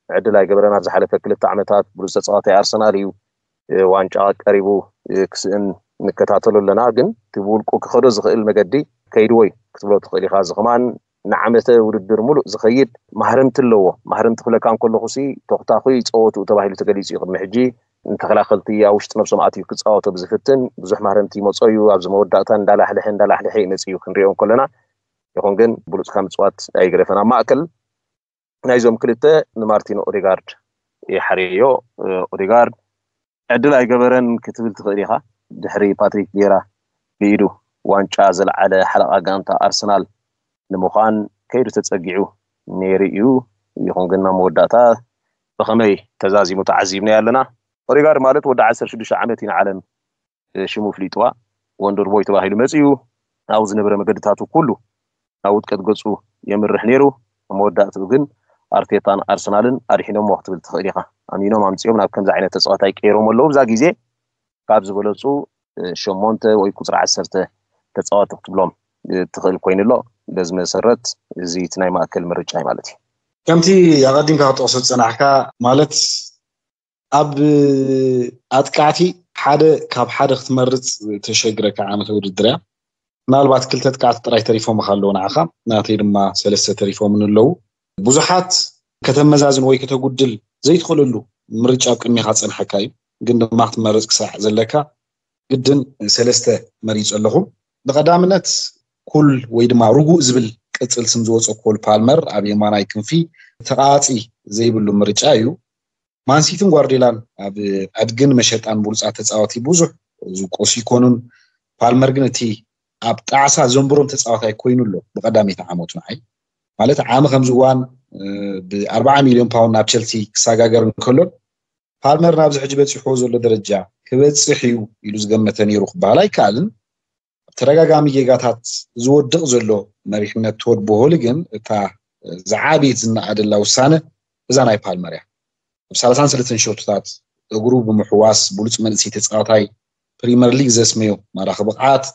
ዕድል ኣይገበረን ኣብ ዝሓለፈ ክልተ ዓመታት ብሉፅ ተፃዋታይ ኣርሰናል እዩ። ዋንጫ ቀሪቡ ክስእን ንከታተሎ ኣለና ግን እቲ ብውልቁ ክኸዶ ዝኽእል መገዲ ከይድዎ እዩ ክትብሎ ትኽእል ኢኻ እዚ ከማን ንዓመተ ውድድር ሙሉእ ዝኸይድ ማህረምቲ ኣለዎ ማህረምቲ ክብለካ እንከለኹ ሲ ተኽታኹይ ፀወትኡ ተባሂሉ ተገሊፁ እዩ ቅድሚ ሕጂ ንተኸላኸልቲ ኣብ ውሽጢ ነብሶም ኣትዩ ክፃወቶ ብዝፍትን ብዙሕ ማህረምቲ ይመፆ እዩ ኣብዚ መወዳእታ እንዳላሕልሐ እንዳላሕልሐ ይመፅ እዩ ክንሪኦ እንከለና ይኹን ግን ብሉፅካ ምፅዋት ኣይግደፈን ኣብ ማእከል ናይዞም ክልተ ንማርቲን ኦዴጋርድ ይሓርዮ ኦዴጋርድ ዕድል ኣይገበረን ክትብል ትኽእል ኢኻ ድሕሪ ፓትሪክ ቪየራ ብኢዱ ዋንጫ ዘልዓለ ሓለቓ ጋንታ ኣርሰናል ንምዃን ከይዱ ተጸጊዑ ነይሩ እዩ ይኹን ግን ናብ መወዳእታ ብኸመይ ተዛዚሙ ተዓዚብናዮ ኣለና ኦዴጋርድ ማለት ወዲ ዓሰርተ ሽዱሽተ ዓመት እዩ ንዓለም ሽሙ ፍሊጥዋ ወንደር ቦይ ተባሂሉ መጺኡ ናብኡ ዝነበረ መገድታቱ ኩሉ ናብ ውድቀት ገጹ የምርሕ ነይሩ ኣብ መወዳእትኡ ግን ኣርቴታን ኣርሰናልን ኣድሒኖሞ ክትብል ትኽእል ኢኻ ኣሚኖም ኣምጺኦም ናብ ከምዚ ዓይነት ተጻዋታይ ቀይሮም ኣለዉ ብዛ ግዜ ካብ ዝበለጹ ሸሞንተ ወይ ቁጽሪ ዓሰርተ ተጻዋቲ ክትብሎም ትኽእል ኮይኑ ኣሎ በዚ መሰረት እዚ እቲ ናይ ማእከል ምርጫ እዩ ማለት እዩ ከምቲ ኣቐዲምካ ክትጠቕሶ ዝጸናሕካ ማለት ኣብ ኣጥቃዕቲ ሓደ ካብ ሓደ ክትመርፅ ተሸግረካ ዓመተ ውድድር እያ ምናልባት ክልተ ኣጥቃዕቲ ጥራይ ተሪፎምኻ ኣለዉ ንዓኻ ናተይ ድማ ሰለስተ ተሪፎምን ኣለዉ ብዙሓት ከተመዛዝን ወይ ከተጉድል ዘይትኽእለሉ ምርጫ ኣብ ቅድሜኻ ዝፀንሐካ እዩ ግን ድማ ክትመርፅ ክሳዕ ዘለካ ግድን ሰለስተ መሪፁ ኣለኹ ብቐዳምነት ኩል ወይ ድማ ርጉእ ዝብል ቅፅል ስም ዝወፀ ኮል ፓልመር ኣብ የማናይ ክንፊ ተቓፂ ዘይብሉ ምርጫ እዩ ማንሲትን ጓርዲላን ኣብ ዕድግን መሸጣን ብሉፃት ተፃወቲ ብዙሕ ዝቆሱ ይኮኑን ፓልመር ግን እቲ ኣብ ጣዕሳ ዘንብሮም ተፃዋታይ ኮይኑ ኣሎ ብቀዳመይቲ ዓመቱ ንዓይ ማለት ዓሚ ከምዚ እዋን ብ40 ሚሊዮን ፓውንድ ናብ ቸልሲ ክሰጋገር እንከሎን ፓልመር ናብዚ ሕጂ በፂሕዎ ዘሎ ደረጃ ክበፅሕ እዩ ኢሉ ዝገመተ ነይሩ ክበሃል ኣይከኣልን ተደጋጋሚ ጌጋታት ዝወድቕ ዘሎ መሪሕነት ቶድ ቦሆሊ ግን እታ ዝዓበየት ዝነኣደላ ውሳነ እዛ ናይ ፓልመር እያ። ኣብ ሰላሳን ሰለስተን ሸቶታት እግሩ ብምሕዋስ ብሉጽ መንእሰይ ተጻዋታይ ፕሪመር ሊግ ዘስመዮ ማራኺ ብቕዓት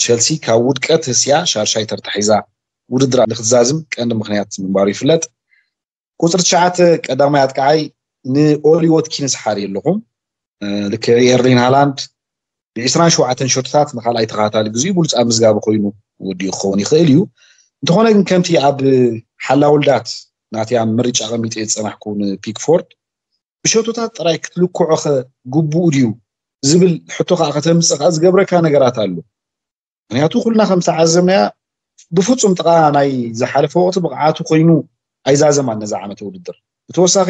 ቸልሲ ካብ ውድቀት ህስያ ሻርሻይ ተርታ ሒዛ ውድድራ ንክትዛዝም ቀንዲ ምኽንያት ምንባሩ ይፍለጥ። ቁጽሪ ትሽዓተ ቀዳማይ ኣጥቃዓይ ንኦሊ ዎትኪንስ ሓሪ ኣለኹ። ልክዕ ኤርሊን ሃላንድ ብ27 ሸቶታት ንካልኣይ ተኸታታሊ ግዜኡ ብሉፅ ኣመዝጋቢ ኮይኑ ወዲኡ ክኸውን ይኽእል እዩ። እንተኾነ ግን ከምቲ ኣብ ሓላውልዳት ናተይ ኣብ ምርጫ ቀሚጠ ዝፀናሕኩ ንፒክፎርድ ብሸቶታት ጥራይ ክትልክዖ ግቡኡ ድዩ ዝብል ሕቶ ከዓ ከተምፅእ ከዓ ዝገብረካ ነገራት ኣሎ። ምክንያቱ ኩልና ከም ዝተዓዘብናያ ብፍፁም ጥቃ ናይ ዝሓለፈ ወቅቲ ብቕዓቱ ኮይኑ ኣይዛዘማን ነዛ ዓመተ ውድድር። ብተወሳኺ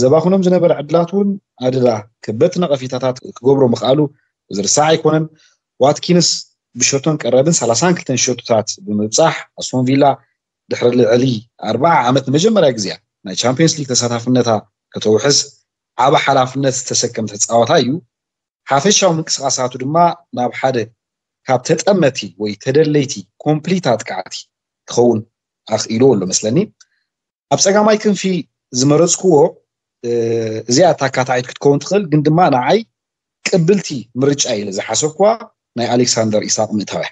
ዘባኽኖም ዝነበረ ዕድላት እውን ኣደዳ ከበድቲ ነቐፊታታት ክገብሮ ምኽኣሉ ዝርሳዕ ኣይኮነን። ዋትኪንስ ብሸቶን ቀረብን 32 ሸቶታት ብምብፃሕ ኣስቶን ቪላ ድሕሪ ልዕሊ ኣርባዓ ዓመት ንመጀመርያ ግዜያ ናይ ቻምፒየንስ ሊግ ተሳታፍነታ ከተውሕስ ዓቢ ሓላፍነት ዝተሰከም ተፃዋታይ እዩ። ሓፈሻዊ ምንቅስቃሳቱ ድማ ናብ ሓደ ካብ ተጠመቲ ወይ ተደለይቲ ኮምፕሊት ኣጥቃዕቲ ክኸውን ኣኽኢልዎ ኣሎ መስለኒ። ኣብ ፀጋማይ ክንፊ ዝመረፅክዎ እዚኣ እታ ኣካታዒት ክትከውን ትኽእል፣ ግን ድማ ንዓይ ቅብልቲ ምርጫ ኢለ ዝሓሰብኳ ናይ ኣሌክሳንደር ኢሳቅ ምእታውያ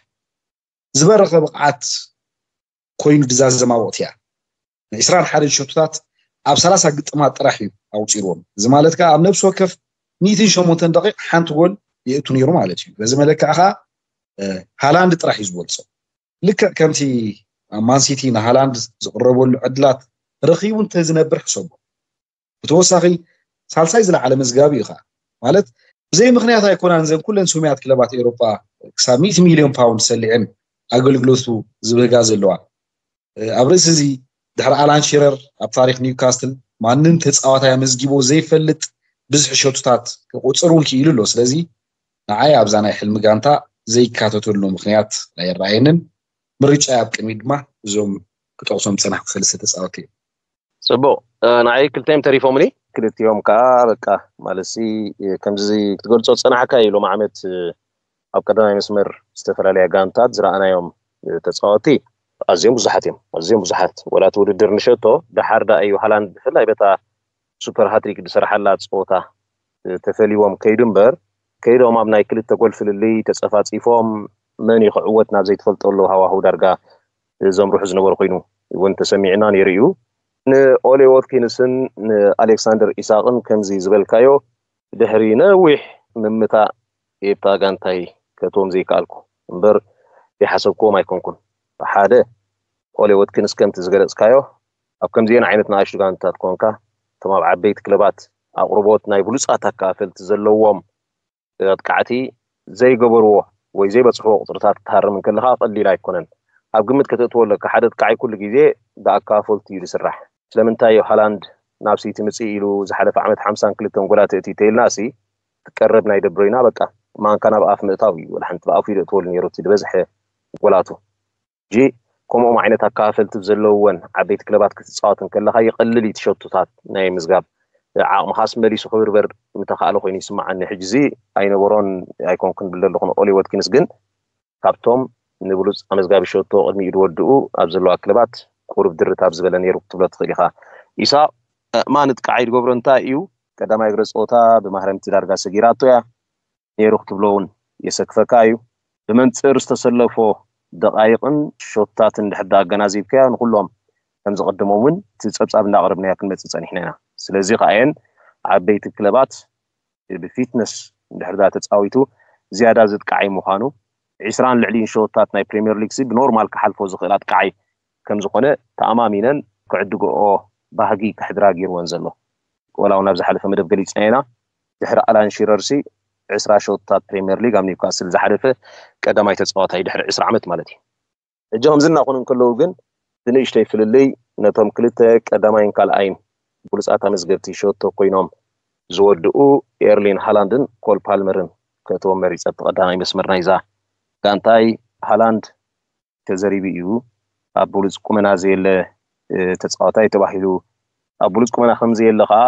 ዝበረኸ ብቕዓት ኮይኑ ድዛዘማ ወቅት እያ። ን21 ሸቶታት ኣብ 30 ግጥማት ጥራሕ እዩ ኣውፂርዎም። እዚ ማለት ከዓ ኣብ ነብሲ ወከፍ ሚእትን ሸሞንተን ደቂቕ ሓንቲ ጎል የእቱ ነይሩ ማለት እዩ። በዚ መለክዕ ከዓ ሃላንድ ጥራሕ እዩ ዝበልፆ። ልክዕ ከምቲ ኣብ ማንሲቲ ንሃላንድ ዝቕረበሉ ዕድላት ረኺቡ እንተዝነብር ሕሰቦ። ብተወሳኺ ሳልሳይ ዝለዓለ መዝጋቢ እዩ ከዓ። ማለት ብዘይ ምክንያት ኣይኮናን እዘን ኩለን ስሙያት ክለባት ኤውሮጳ ክሳብ ሚእቲ ሚልዮን ፓውንድ ሰሊዐን ኣገልግሎቱ ዝብህጋ ዘለዋ። ኣብ ርእሲ እዚ ድሕሪ ኣላን ሺረር ኣብ ታሪክ ኒውካስትል ማንም ተፃዋታይ ኣመዝጊቦ ዘይፈልጥ ብዝሒ ሸቶታት ክቁፅር እውን ክኢሉ ኣሎ። ስለዚ ንዓይ ኣብዛ ናይ ሕልሚ ጋንታ ዘይካተተሉ ምክንያት ኣይረኣየንን። ምርጫ ኣብ ቅድሚት ድማ እዞም ክጠቕሶም ዝፀናሕኩ ሰለስተ ተፃወትቲ እዮም። ፅቡቅ። ንዓይ ክልተ እዮም ተሪፎምኒ። ክልቲኦም ከዓ በቃ ማለትሲ ከምዚ ክትገልፆ ዝፀናሕካ እዩ። ሎም ዓመት ኣብ ቀዳማይ መስመር ዝተፈላለያ ጋንታት ዝረኣናዮም ተፃወቲ ኣዝዮም ብዙሓት እዮም። ኣዝዮም ብዙሓት ወላ እቲ ውድድር ንሸቶ ደሓር ዳ እዩ ሃላንድ ብፍላይ በታ ሱፐር ሃትሪክ ዝሰርሓላ ፀወታ ተፈሊዎም ከይዱ እምበር ከይዶም ኣብ ናይ ክልተ ጎል ፍልልይ ተፀፋፂፎም መን እዩ ክዕወት ናብ ዘይትፈልጠሉ ሃዋህው ዳርጋ ዘምርሑ ዝነበሩ ኮይኑ እውን ተሰሚዕና ነይሩ እዩ። ንኦሌ ዎትኪንስን ንኣሌክሳንደር ኢሳቅን ከምዚ ዝበልካዮ ድሕሪ ነዊሕ ምምታእ የብታ ጋንታይ ከእትዎም ዘይከኣልኩ እምበር ይሓሰብክዎም ኣይኮንኩን። ሓደ ኦሌ ዎትኪንስ ከምቲ ዝገለፅካዮ ኣብ ከምዚአን ዓይነት ንኣሽቱ ጋንታት ኮንካ እቶም ኣብ ዓበይቲ ክለባት ኣቕርቦት ናይ ብሉፃት ኣካፈልቲ ዘለዎም ኣጥቃዕቲ ዘይገበርዎ ወይ ዘይበፅሕዎ ቁፅርታት ክትሃርም እንከለካ ቀሊል ኣይኮነን። ኣብ ግምት ከተእትዎ ኣለካ ሓደ ኣጥቃዓይ ኩሉ ግዜ ብኣካፈልቲ እዩ ዝስራሕ። ስለምንታይ እዩ ሃላንድ ናብ ሲቲ ምፅእ ኢሉ ዝሓለፈ ዓመት ሓምሳን ክልተን ጎላት እቲ ተይልና ሲ ትቀረብ ናይ ደብሮይና በቃ ማንካ ናብ ኣፍ ምእታው እዩ። ወላ ሓንቲ ብኣፉ ይደእትወሉ ነይሩ እቲ ዝበዝሐ ጎላቱ። ጂ ከምኦም ዓይነት ኣካፈልቲ ዘለወን ዓበይቲ ክለባት ክትፃወት እንከለካ ይቐልል እዩ ትሸቱታት ናይ ምዝጋብ ዓቕምኻስ መሊሱ ክብርበር ምተኻእለ ኮይኑ ይስምዓኒ። ሕጂ እዚ ኣይነበሮን ኣይኮንኩን ብል ዘለኹ ንኦሊ ወትኪንስ ግን ካብቶም ንብሉፅ ኣመዝጋቢ ሸቶ ቅድሚኡ ዝወድኡ ኣብ ዘለዋ ክለባት ቁሩብ ድርት ኣብ ዝበለ ነይሩ ክትብሎ ትኽእል ኢኻ። ኢሳቅ ማን ጥቃዓይ ዝገብሮ እንታይ እዩ? ቀዳማይ እግረ ፀወታ ብማህረምቲ ዳርጋ ሰጊራቶ እያ ነይሩ ክትብሎ እውን የሰክፈካ እዩ። ብመንፅር ዝተሰለፎ ደቃይቅን ሾታትን ድሕር ኣገናዚብካዮ ንኩሎም ከም ዝቀደሞም እውን እቲ ፀብፃብ እንዳቅረብናዮ ክንመፅእ ፀኒሕና ኢና። ስለዚ ከኣየን ዓበይቲ ክለባት ብፊትነስ እንድሕር ዳ ተፃዊቱ ዝያዳ ዝጥቃዓይ ምዃኑ ዒስራን ልዕሊን ሸወታት ናይ ፕሪምየር ሊግ ሲ ብኖርማል ክሓልፎ ዝኽእል ኣጥቃዓይ ከም ዝኾነ ተኣማሚነን ክዕድግኦ ባህጊ ክሕድራ ገይርወን ዘሎ። ወላ እውን ኣብ ዝሓለፈ መደብ ገሊፅና ኢና። ድሕሪ ኣላን ሺረር ሲ ዕስራ ሸወታት ፕሪምየር ሊግ ኣብ ኒውካስል ዝሓለፈ ቀዳማይ ተፃዋታይ ድሕሪ ዕስራ ዓመት ማለት እዩ። ሕጂ ከምዚ እናኾኑ እንከለዉ ግን ብንእሽተይ ፍልልይ ነቶም ክልተ ቀዳማይን ካልኣይን ብሉፃት ኣመዝገብቲ ሸቶ ኮይኖም ዝወድኡ ኤርሊን ሃላንድን ኮል ፓልመርን ከእትዎም መሪፀ። ኣብቲ ቀዳማይ መስመር ናይዛ ጋንታይ ሃላንድ ተዘሪቡ እዩ። ኣብ ብሉፅ ቁመና ዘየለ ተፃዋታይ ተባሂሉ ኣብ ብሉፅ ቁመና ከም ዘየለ ከዓ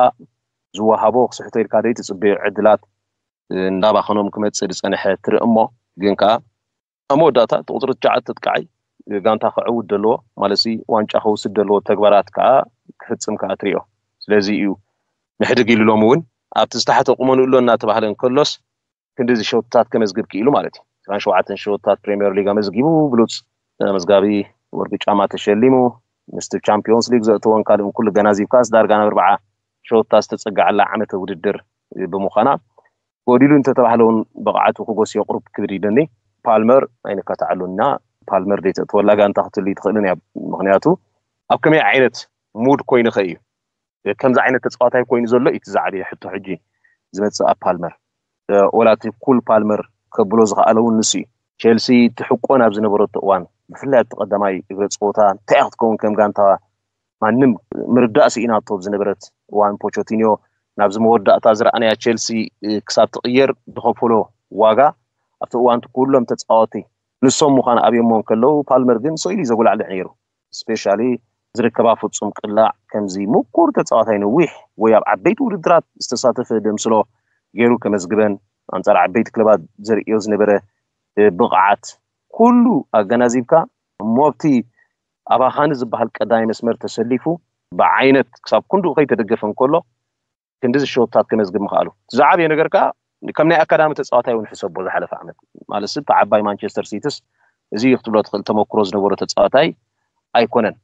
ዝወሃቦ ክስሕቶ ኢልካ ዘይትፅበዮ ዕድላት እንዳባኸኖም ክመፅእ ዝፀንሐ ትርኢ እሞ ግን ከዓ ኣብ መወዳእታ እቲ ቁፅሪ ትሽዓተ ኣጥቃዓይ ጋንታ ክዕውት ዘለዎ ማለት ዋንጫ ክወስድ ዘለዎ ተግባራት ከዓ ክፍፅም ከዓ ትሪኦ። ስለዚ እዩ ንሕድግ ኢሉ ሎም እውን ኣብቲ ዝተሓተ ቁመንኡ ኣሎ እናተባህለ እንከሎስ ክንዲዚ ሸወታት ከመዝግብ ክኢሉ ማለት እዩ። ዕስራን ሸውዓተን ሸወታት ፕሪምየር ሊግ ኣመዝጊቡ ብሉፅ መዝጋቢ ወርቂ ጫማ ተሸሊሙ ምስቲ ቻምፒዮንስ ሊግ ዘእተወን ካልእን ኩሉ ገናዚብካስ ዳርጋ ናብ ኣርባዓ ሸወታት ዝተፀግዓላ ዓመተ ውድድር ብምዃና ጎዲሉ እንተተባህለ እውን ብቕዓቱ ክጎሲ የቕሩብ ክብል ይደኒ። ፓልመር ኣይንከታዕሉን ኢና። ፓልመር ዘይተእትወላ ጋንታ ክትህሉ ትኽእልን እያ። ምክንያቱ ኣብ ከመይ ዓይነት ሙድ ኮይኑኸ እዩ ከምዚ ዓይነት ተፃዋታይ ኮይኑ ዘሎ? እቲ ዝዓበየ ሕቶ ሕጂ ዝመፅእ ኣብ ፓልመር፣ ወላ እቲ ኩል ፓልመር ከብሎ ዝኸኣለ እውን ንሱ እዩ። ቸልሲ ትሕቆ ናብ ዝነበረቶ እዋን፣ ብፍላይ ኣብቲ ቀዳማይ እግረ ፀወታ እንታይ ክትከውን ከም ጋንታ ማንም ምርዳእ ስኢናቶ ዝነበረት እዋን፣ ፖቾቲኒዮ ናብዚ መወዳእታ ዝረኣናያ ቸልሲ ክሳብ ትቕየር ዝኸፈሎ ዋጋ፣ ኣብቲ እዋን ኩሎም ተፃወቲ ንሶም ምዃን ኣብዮሞ እንከለዉ፣ ፓልመር ግን ስኢሉ እዩ ዘጉላዕልዕ ነይሩ። ስፔሻሊ ዝርከባ ፍጹም ቅላዕ ከምዚ ምኩር ተፃዋታይ፣ ነዊሕ ወይ ኣብ ዓበይቲ ውድድራት ዝተሳተፈ ደምስሎ ገይሩ ከመዝግበን፣ ኣንጻር ዓበይቲ ክለባት ዘርእዮ ዝነበረ ብቕዓት ኩሉ ኣገናዚብካ፣ እሞ ኣብቲ ኣባኻኒ ዝበሃል ቀዳማይ መስመር ተሰሊፉ ብዓይነት ክሳብ ክንድኡ ከይተደገፈ እንከሎ ክንድዚ ሸወታት ከመዝግብ ምኽኣሉ። እቲ ዝዓበየ ነገር ከኣ ከም ናይ ኣካዳሚ ተፃዋታይ እውን ሕሰቦ ዝሓለፈ ዓመት። ማለት እቲ ዓባይ ማንቸስተር ሲቲስ እዚ እዩ ክትብሎ ትኽእል ተመክሮ ዝነበሮ ተፃዋታይ ኣይኮነን።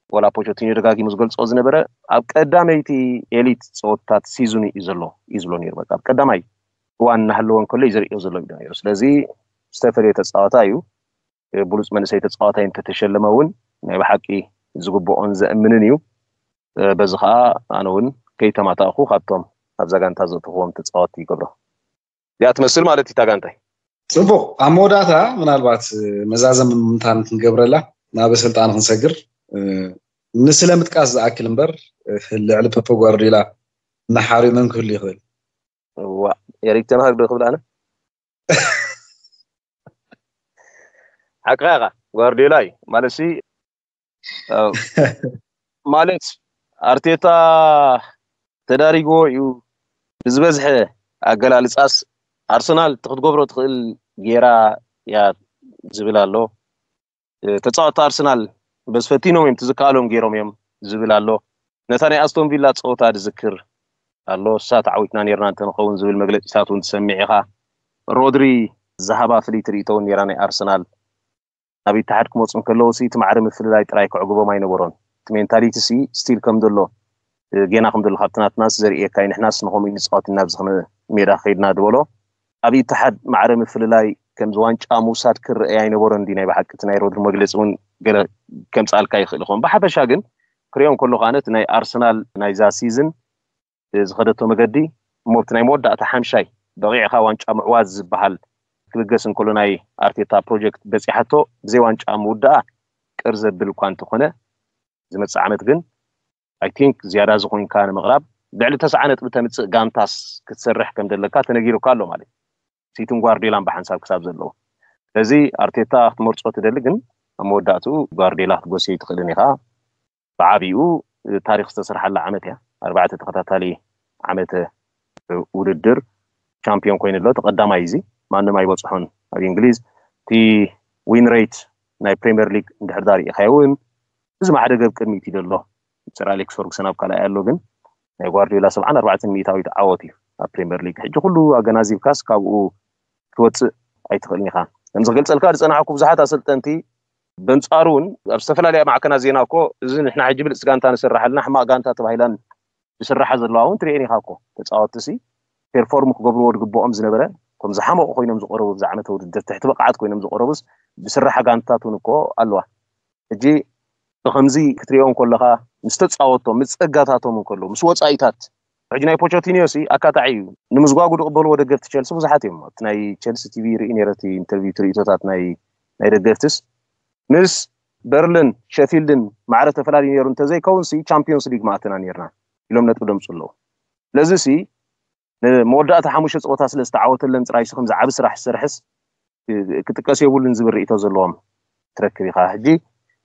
ወላ ፖቸቲኖ ደጋጊሙ ዝገልጾ ዝነበረ ኣብ ቀዳመይቲ ኤሊት ፀወታት ሲዝኑ እዩ ዘሎ እዩ ዝብሎ ነይሩ። በቃ ኣብ ቀዳማይ እዋን እናሃለወ እንከሎ እዩ ዘርእዮ ዘሎ እዩ ነይሩ። ስለዚ ዝተፈለየ ተፃዋታይ እዩ። ብሉፅ መንእሰይ ተፃዋታይ እንተተሸለመ እውን ናይ ብሓቂ ዝግብኦን ዘእምንን እዩ። በዚ ከዓ ኣነ እውን ከይተማታእኹ ካብቶም ኣብዛ ጋንታ ዘእተኽዎም ተፃወትቲ ይገብሮ። እዚኣ ትመስል ማለት እዩ እታ ጋንታይ። ፅቡቕ። ኣብ መወዳእታ ምናልባት መዛዘም ምምታን ክንገብረላ ናብ ኣሰልጣኒ ክንሰግር፣ ንስለ ምጥቃስ ዝኣክል እምበር፣ ልዕሊ ፔፕ ጓርዲዮላ እናሓርዩ መን ክህሉ ይኽእል? ዋ፣ ኤሪክ ተን ሃግ ዶ ክብል ኣነ? ሓቅኻ ኢኻ። ጓርዲዮላ እዩ ማለት ሲ፣ ማለት ኣርቴታ ተዳሪግዎ እዩ ብዝበዝሐ ኣገላልጻስ፣ ኣርሰናል ክትገብሮ ትኽእል ጌራ እያ ዝብል ኣሎ። ተጻወትቲ ኣርሰናል በዚ ፈቲኖም እዮም፣ ትዝከኣሎም ገይሮም እዮም ዝብል ኣሎ። ነታ ናይ ኣስቶን ቪላ ጸወታ ዝዝክር ኣሎ። እሳ ተዓዊትና ኔርና እንተንኸውን ዝብል መግለጺታት እውን ትሰምዕ ኢኻ። ሮድሪ ዝሃባ ፍልይቲ ርእይቶ እውን ኔራ ናይ ኣርሰናል። ናብ ኢትሓድ ክመፁ እንከለዉ ሲ እቲ ማዕረ ምፍልላይ ጥራይ ክዕግቦም ኣይነበሮን። እቲ ሜንታሊቲ ሲ ስቲል ከም ዘሎ፣ እ፣ ጌና ከም ዘሎ ካብቲ ናትናስ ዘርእየካ እዩ። ንሕናስ ንኸምኡ ንፃወት ኢና ኣብዚ ኸነ ሜዳ ከይድና ዝበሎ። ኣብ ኢትሓድ ማዕረ ምፍልላይ ከምዚ ዋንጫ ምውሳድ ክረአ ኣይነበሮን። እንዲ ናይ ብሓቂ እቲ ናይ ሮድሪ መግለፂ እውን ገለ ከምፅኣልካ ይኽእል ይኸውን። ብሓፈሻ ግን ክሪኦ እንከሎ ከኣነ እቲ ናይ ኣርሰናል ናይዛ ሲዝን ዝኸደቶ መገዲ እሞ ኣብቲ ናይ መወዳእታ ሓምሻይ በቒዕኻ ዋንጫ ምዕዋዝ ዝበሃል ክብገስ እንከሎ ናይ ኣርቴታ ፕሮጀክት በፂሓቶ ብዘይ ዋንጫ ምውዳኣ ቅር ዘብል እኳ እንተኾነ፣ ዝመፅእ ዓመት ግን ኣይ ቲንክ ዝያዳ ዝኾንካ ንምቕራብ ልዕሊ ተስዓ ነጥቢ ተምፅእ ጋንታስ ክትሰርሕ ከም ዘለካ ተነጊሩካ ኣሎ ማለት እዩ። ሲቲን ጓርዲዮላን ብሓንሳብ ክሳብ ዘለዎ። ስለዚ ኣርቴታ ክትመርፆ ትደሊ፣ ግን ኣብ መወዳእትኡ ጓርዲዮላ ክትጎስዮ ይትኽእልን ኢኻ። ብዓቢኡ ታሪኽ ዝተሰርሓላ ዓመት እያ። ኣርባዕተ ተኸታታሊ ዓመተ ውድድር ቻምፒዮን ኮይኑ ኣሎ። እቲ ቀዳማይ እዚ ማንም ኣይበፅሖን ኣብ እንግሊዝ። እቲ ዊን ሬት ናይ ፕሪምየር ሊግ እንድሕር ዳ ርኢኻዮ እውን እዚ ማዕረ ገብ ቅድሚት እዩ ዘሎ። ሰር ኣሌክስ ፈርጉሰን ኣብ ካልኣይ ኣሎ፣ ግን ናይ ጓርዲዮላ ሰብዓን ኣርባዕተን ሚእታዊት ዓወት እዩ ኣብ ፕሪምየር ሊግ። ሕጂ ኩሉ ኣገናዚብካስ ካብኡ ክትወፅእ ኣይትኽእልን ኢኻ። ከምዚ ክገልፀልካ ዝፀናሕኩ ብዙሓት ኣሰልጠንቲ በንጻሩ እውን ኣብ ዝተፈላለያ ማዕከናት ዜና እኮ እዚ ንሕና ሕጂ ብልፅቲ ጋንታ ንስራሓልና ሕማቕ ጋንታ ተባሂላን ዝስራሓ ዘለዋ እውን ትርእየን ኢኻ እኮ። ተፃወትቲ ሲ ፔርፎርም ክገብርዎ ዝግብኦም ዝነበረ፣ እቶም ዝሓመቑ ኮይኖም ዝቐረቡ፣ ኣብዚ ዓመተ ውድድር ትሕቲ ብቕዓት ኮይኖም ዝቐረቡስ ዝስራሓ ጋንታታት እውን እኮ ኣለዋ። ሕጂ ብኸምዚ ክትሪኦ እንከለኻ ምስ ተፃወቶም፣ ምስ ፀጋታቶም እንከለዉ፣ ምስ ወፃኢታት፣ ሕጂ ናይ ፖቸቲኒዮ ሲ ኣካታዒ እዩ። ንምዝጓጉ ዝቕበልዎ ደገፍቲ ቸልሲ ብዙሓት እዮም። ኣብቲ ናይ ቸልሲ ቲቪ ርኢ ነይረ፣ እቲ ኢንተርቪው፣ እቲ ርእይቶታት ናይ ናይ ደገፍትስ ምስ በርልን ሸፊልድን ማዕረ ተፈላለዩ ነይሩ እንተዘይከውን ሲ ቻምፒዮንስ ሊግ ምኣተና ነይርና ኢሎም ነጥቢ ደምፁ ኣለዉ። ስለዚ ሲ ንመወዳእታ ሓሙሽተ ፀወታ ስለ ዝተዓወተለን ጥራይ ሲ ከምዚ ዓቢ ስራሕ ዝሰርሕስ ክጥቀስ የብሉን ዝብል ርእይቶ ዘለዎም ትረክብ ኢኻ። ሕጂ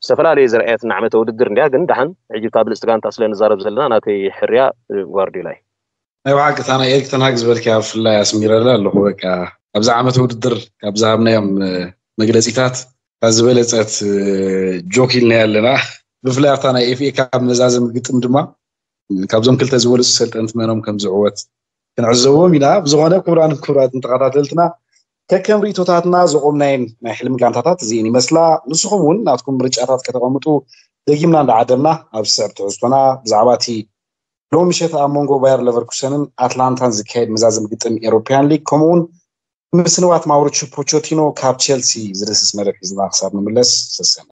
ዝተፈላለየ ዝረኣየትና ዓመተ ውድድር እንድያ፣ ግን ደሓን ሕጂ እታ ብልፅቲ ጋንታ ስለ ንዛረብ ዘለና ናተይ ሕርያ ጓርዲዮላ እዩ። ናይ ብሓቂ እታ ናይ ኤሪክ ተን ሃግ ዝበልክያ ብፍላይ ኣስሚረላ ኣለኹ። በቃ ኣብዚ ዓመት ውድድር ካብ ዝሃብናዮም መግለፂታት እታ ዝበለፀት ጆክ ኢልናያ ኣለና። ብፍላይ ኣብታ ናይ ኤፍ ኤ ካፕ መዛዘሚ ግጥም ድማ ካብዞም ክልተ ዝበለፁ ሰልጠንቲ መኖም ከም ዝዕወት ክንዕዘቦም ኢና። ብዝኾነ ክቡራን ክቡራትን ተኸታተልትና ከከም ርእይቶታትና ዘቆምናየን ናይ ሕልሚ ጋንታታት እዚኤን ይመስላ። ንስኹም እውን ናትኩም ምርጫታት ከተቐምጡ ደጊምና እንዳዓደምና ኣብ ዝስዕብ ትሕዝቶና ብዛዕባ እቲ ሎም ምሸት ኣብ መንጎ ባየር ለቨርኩሰንን ኣትላንታን ዝካየድ መዛዘም ግጥም ኤሮፓያን ሊግ ከምኡውን ምስንዋት ማውሪቹ ፖቾቲኖ ካብ ቸልሲ ዝደስስ መደብ ሒዝና ክሳብ ንምለስ ሰሰነ።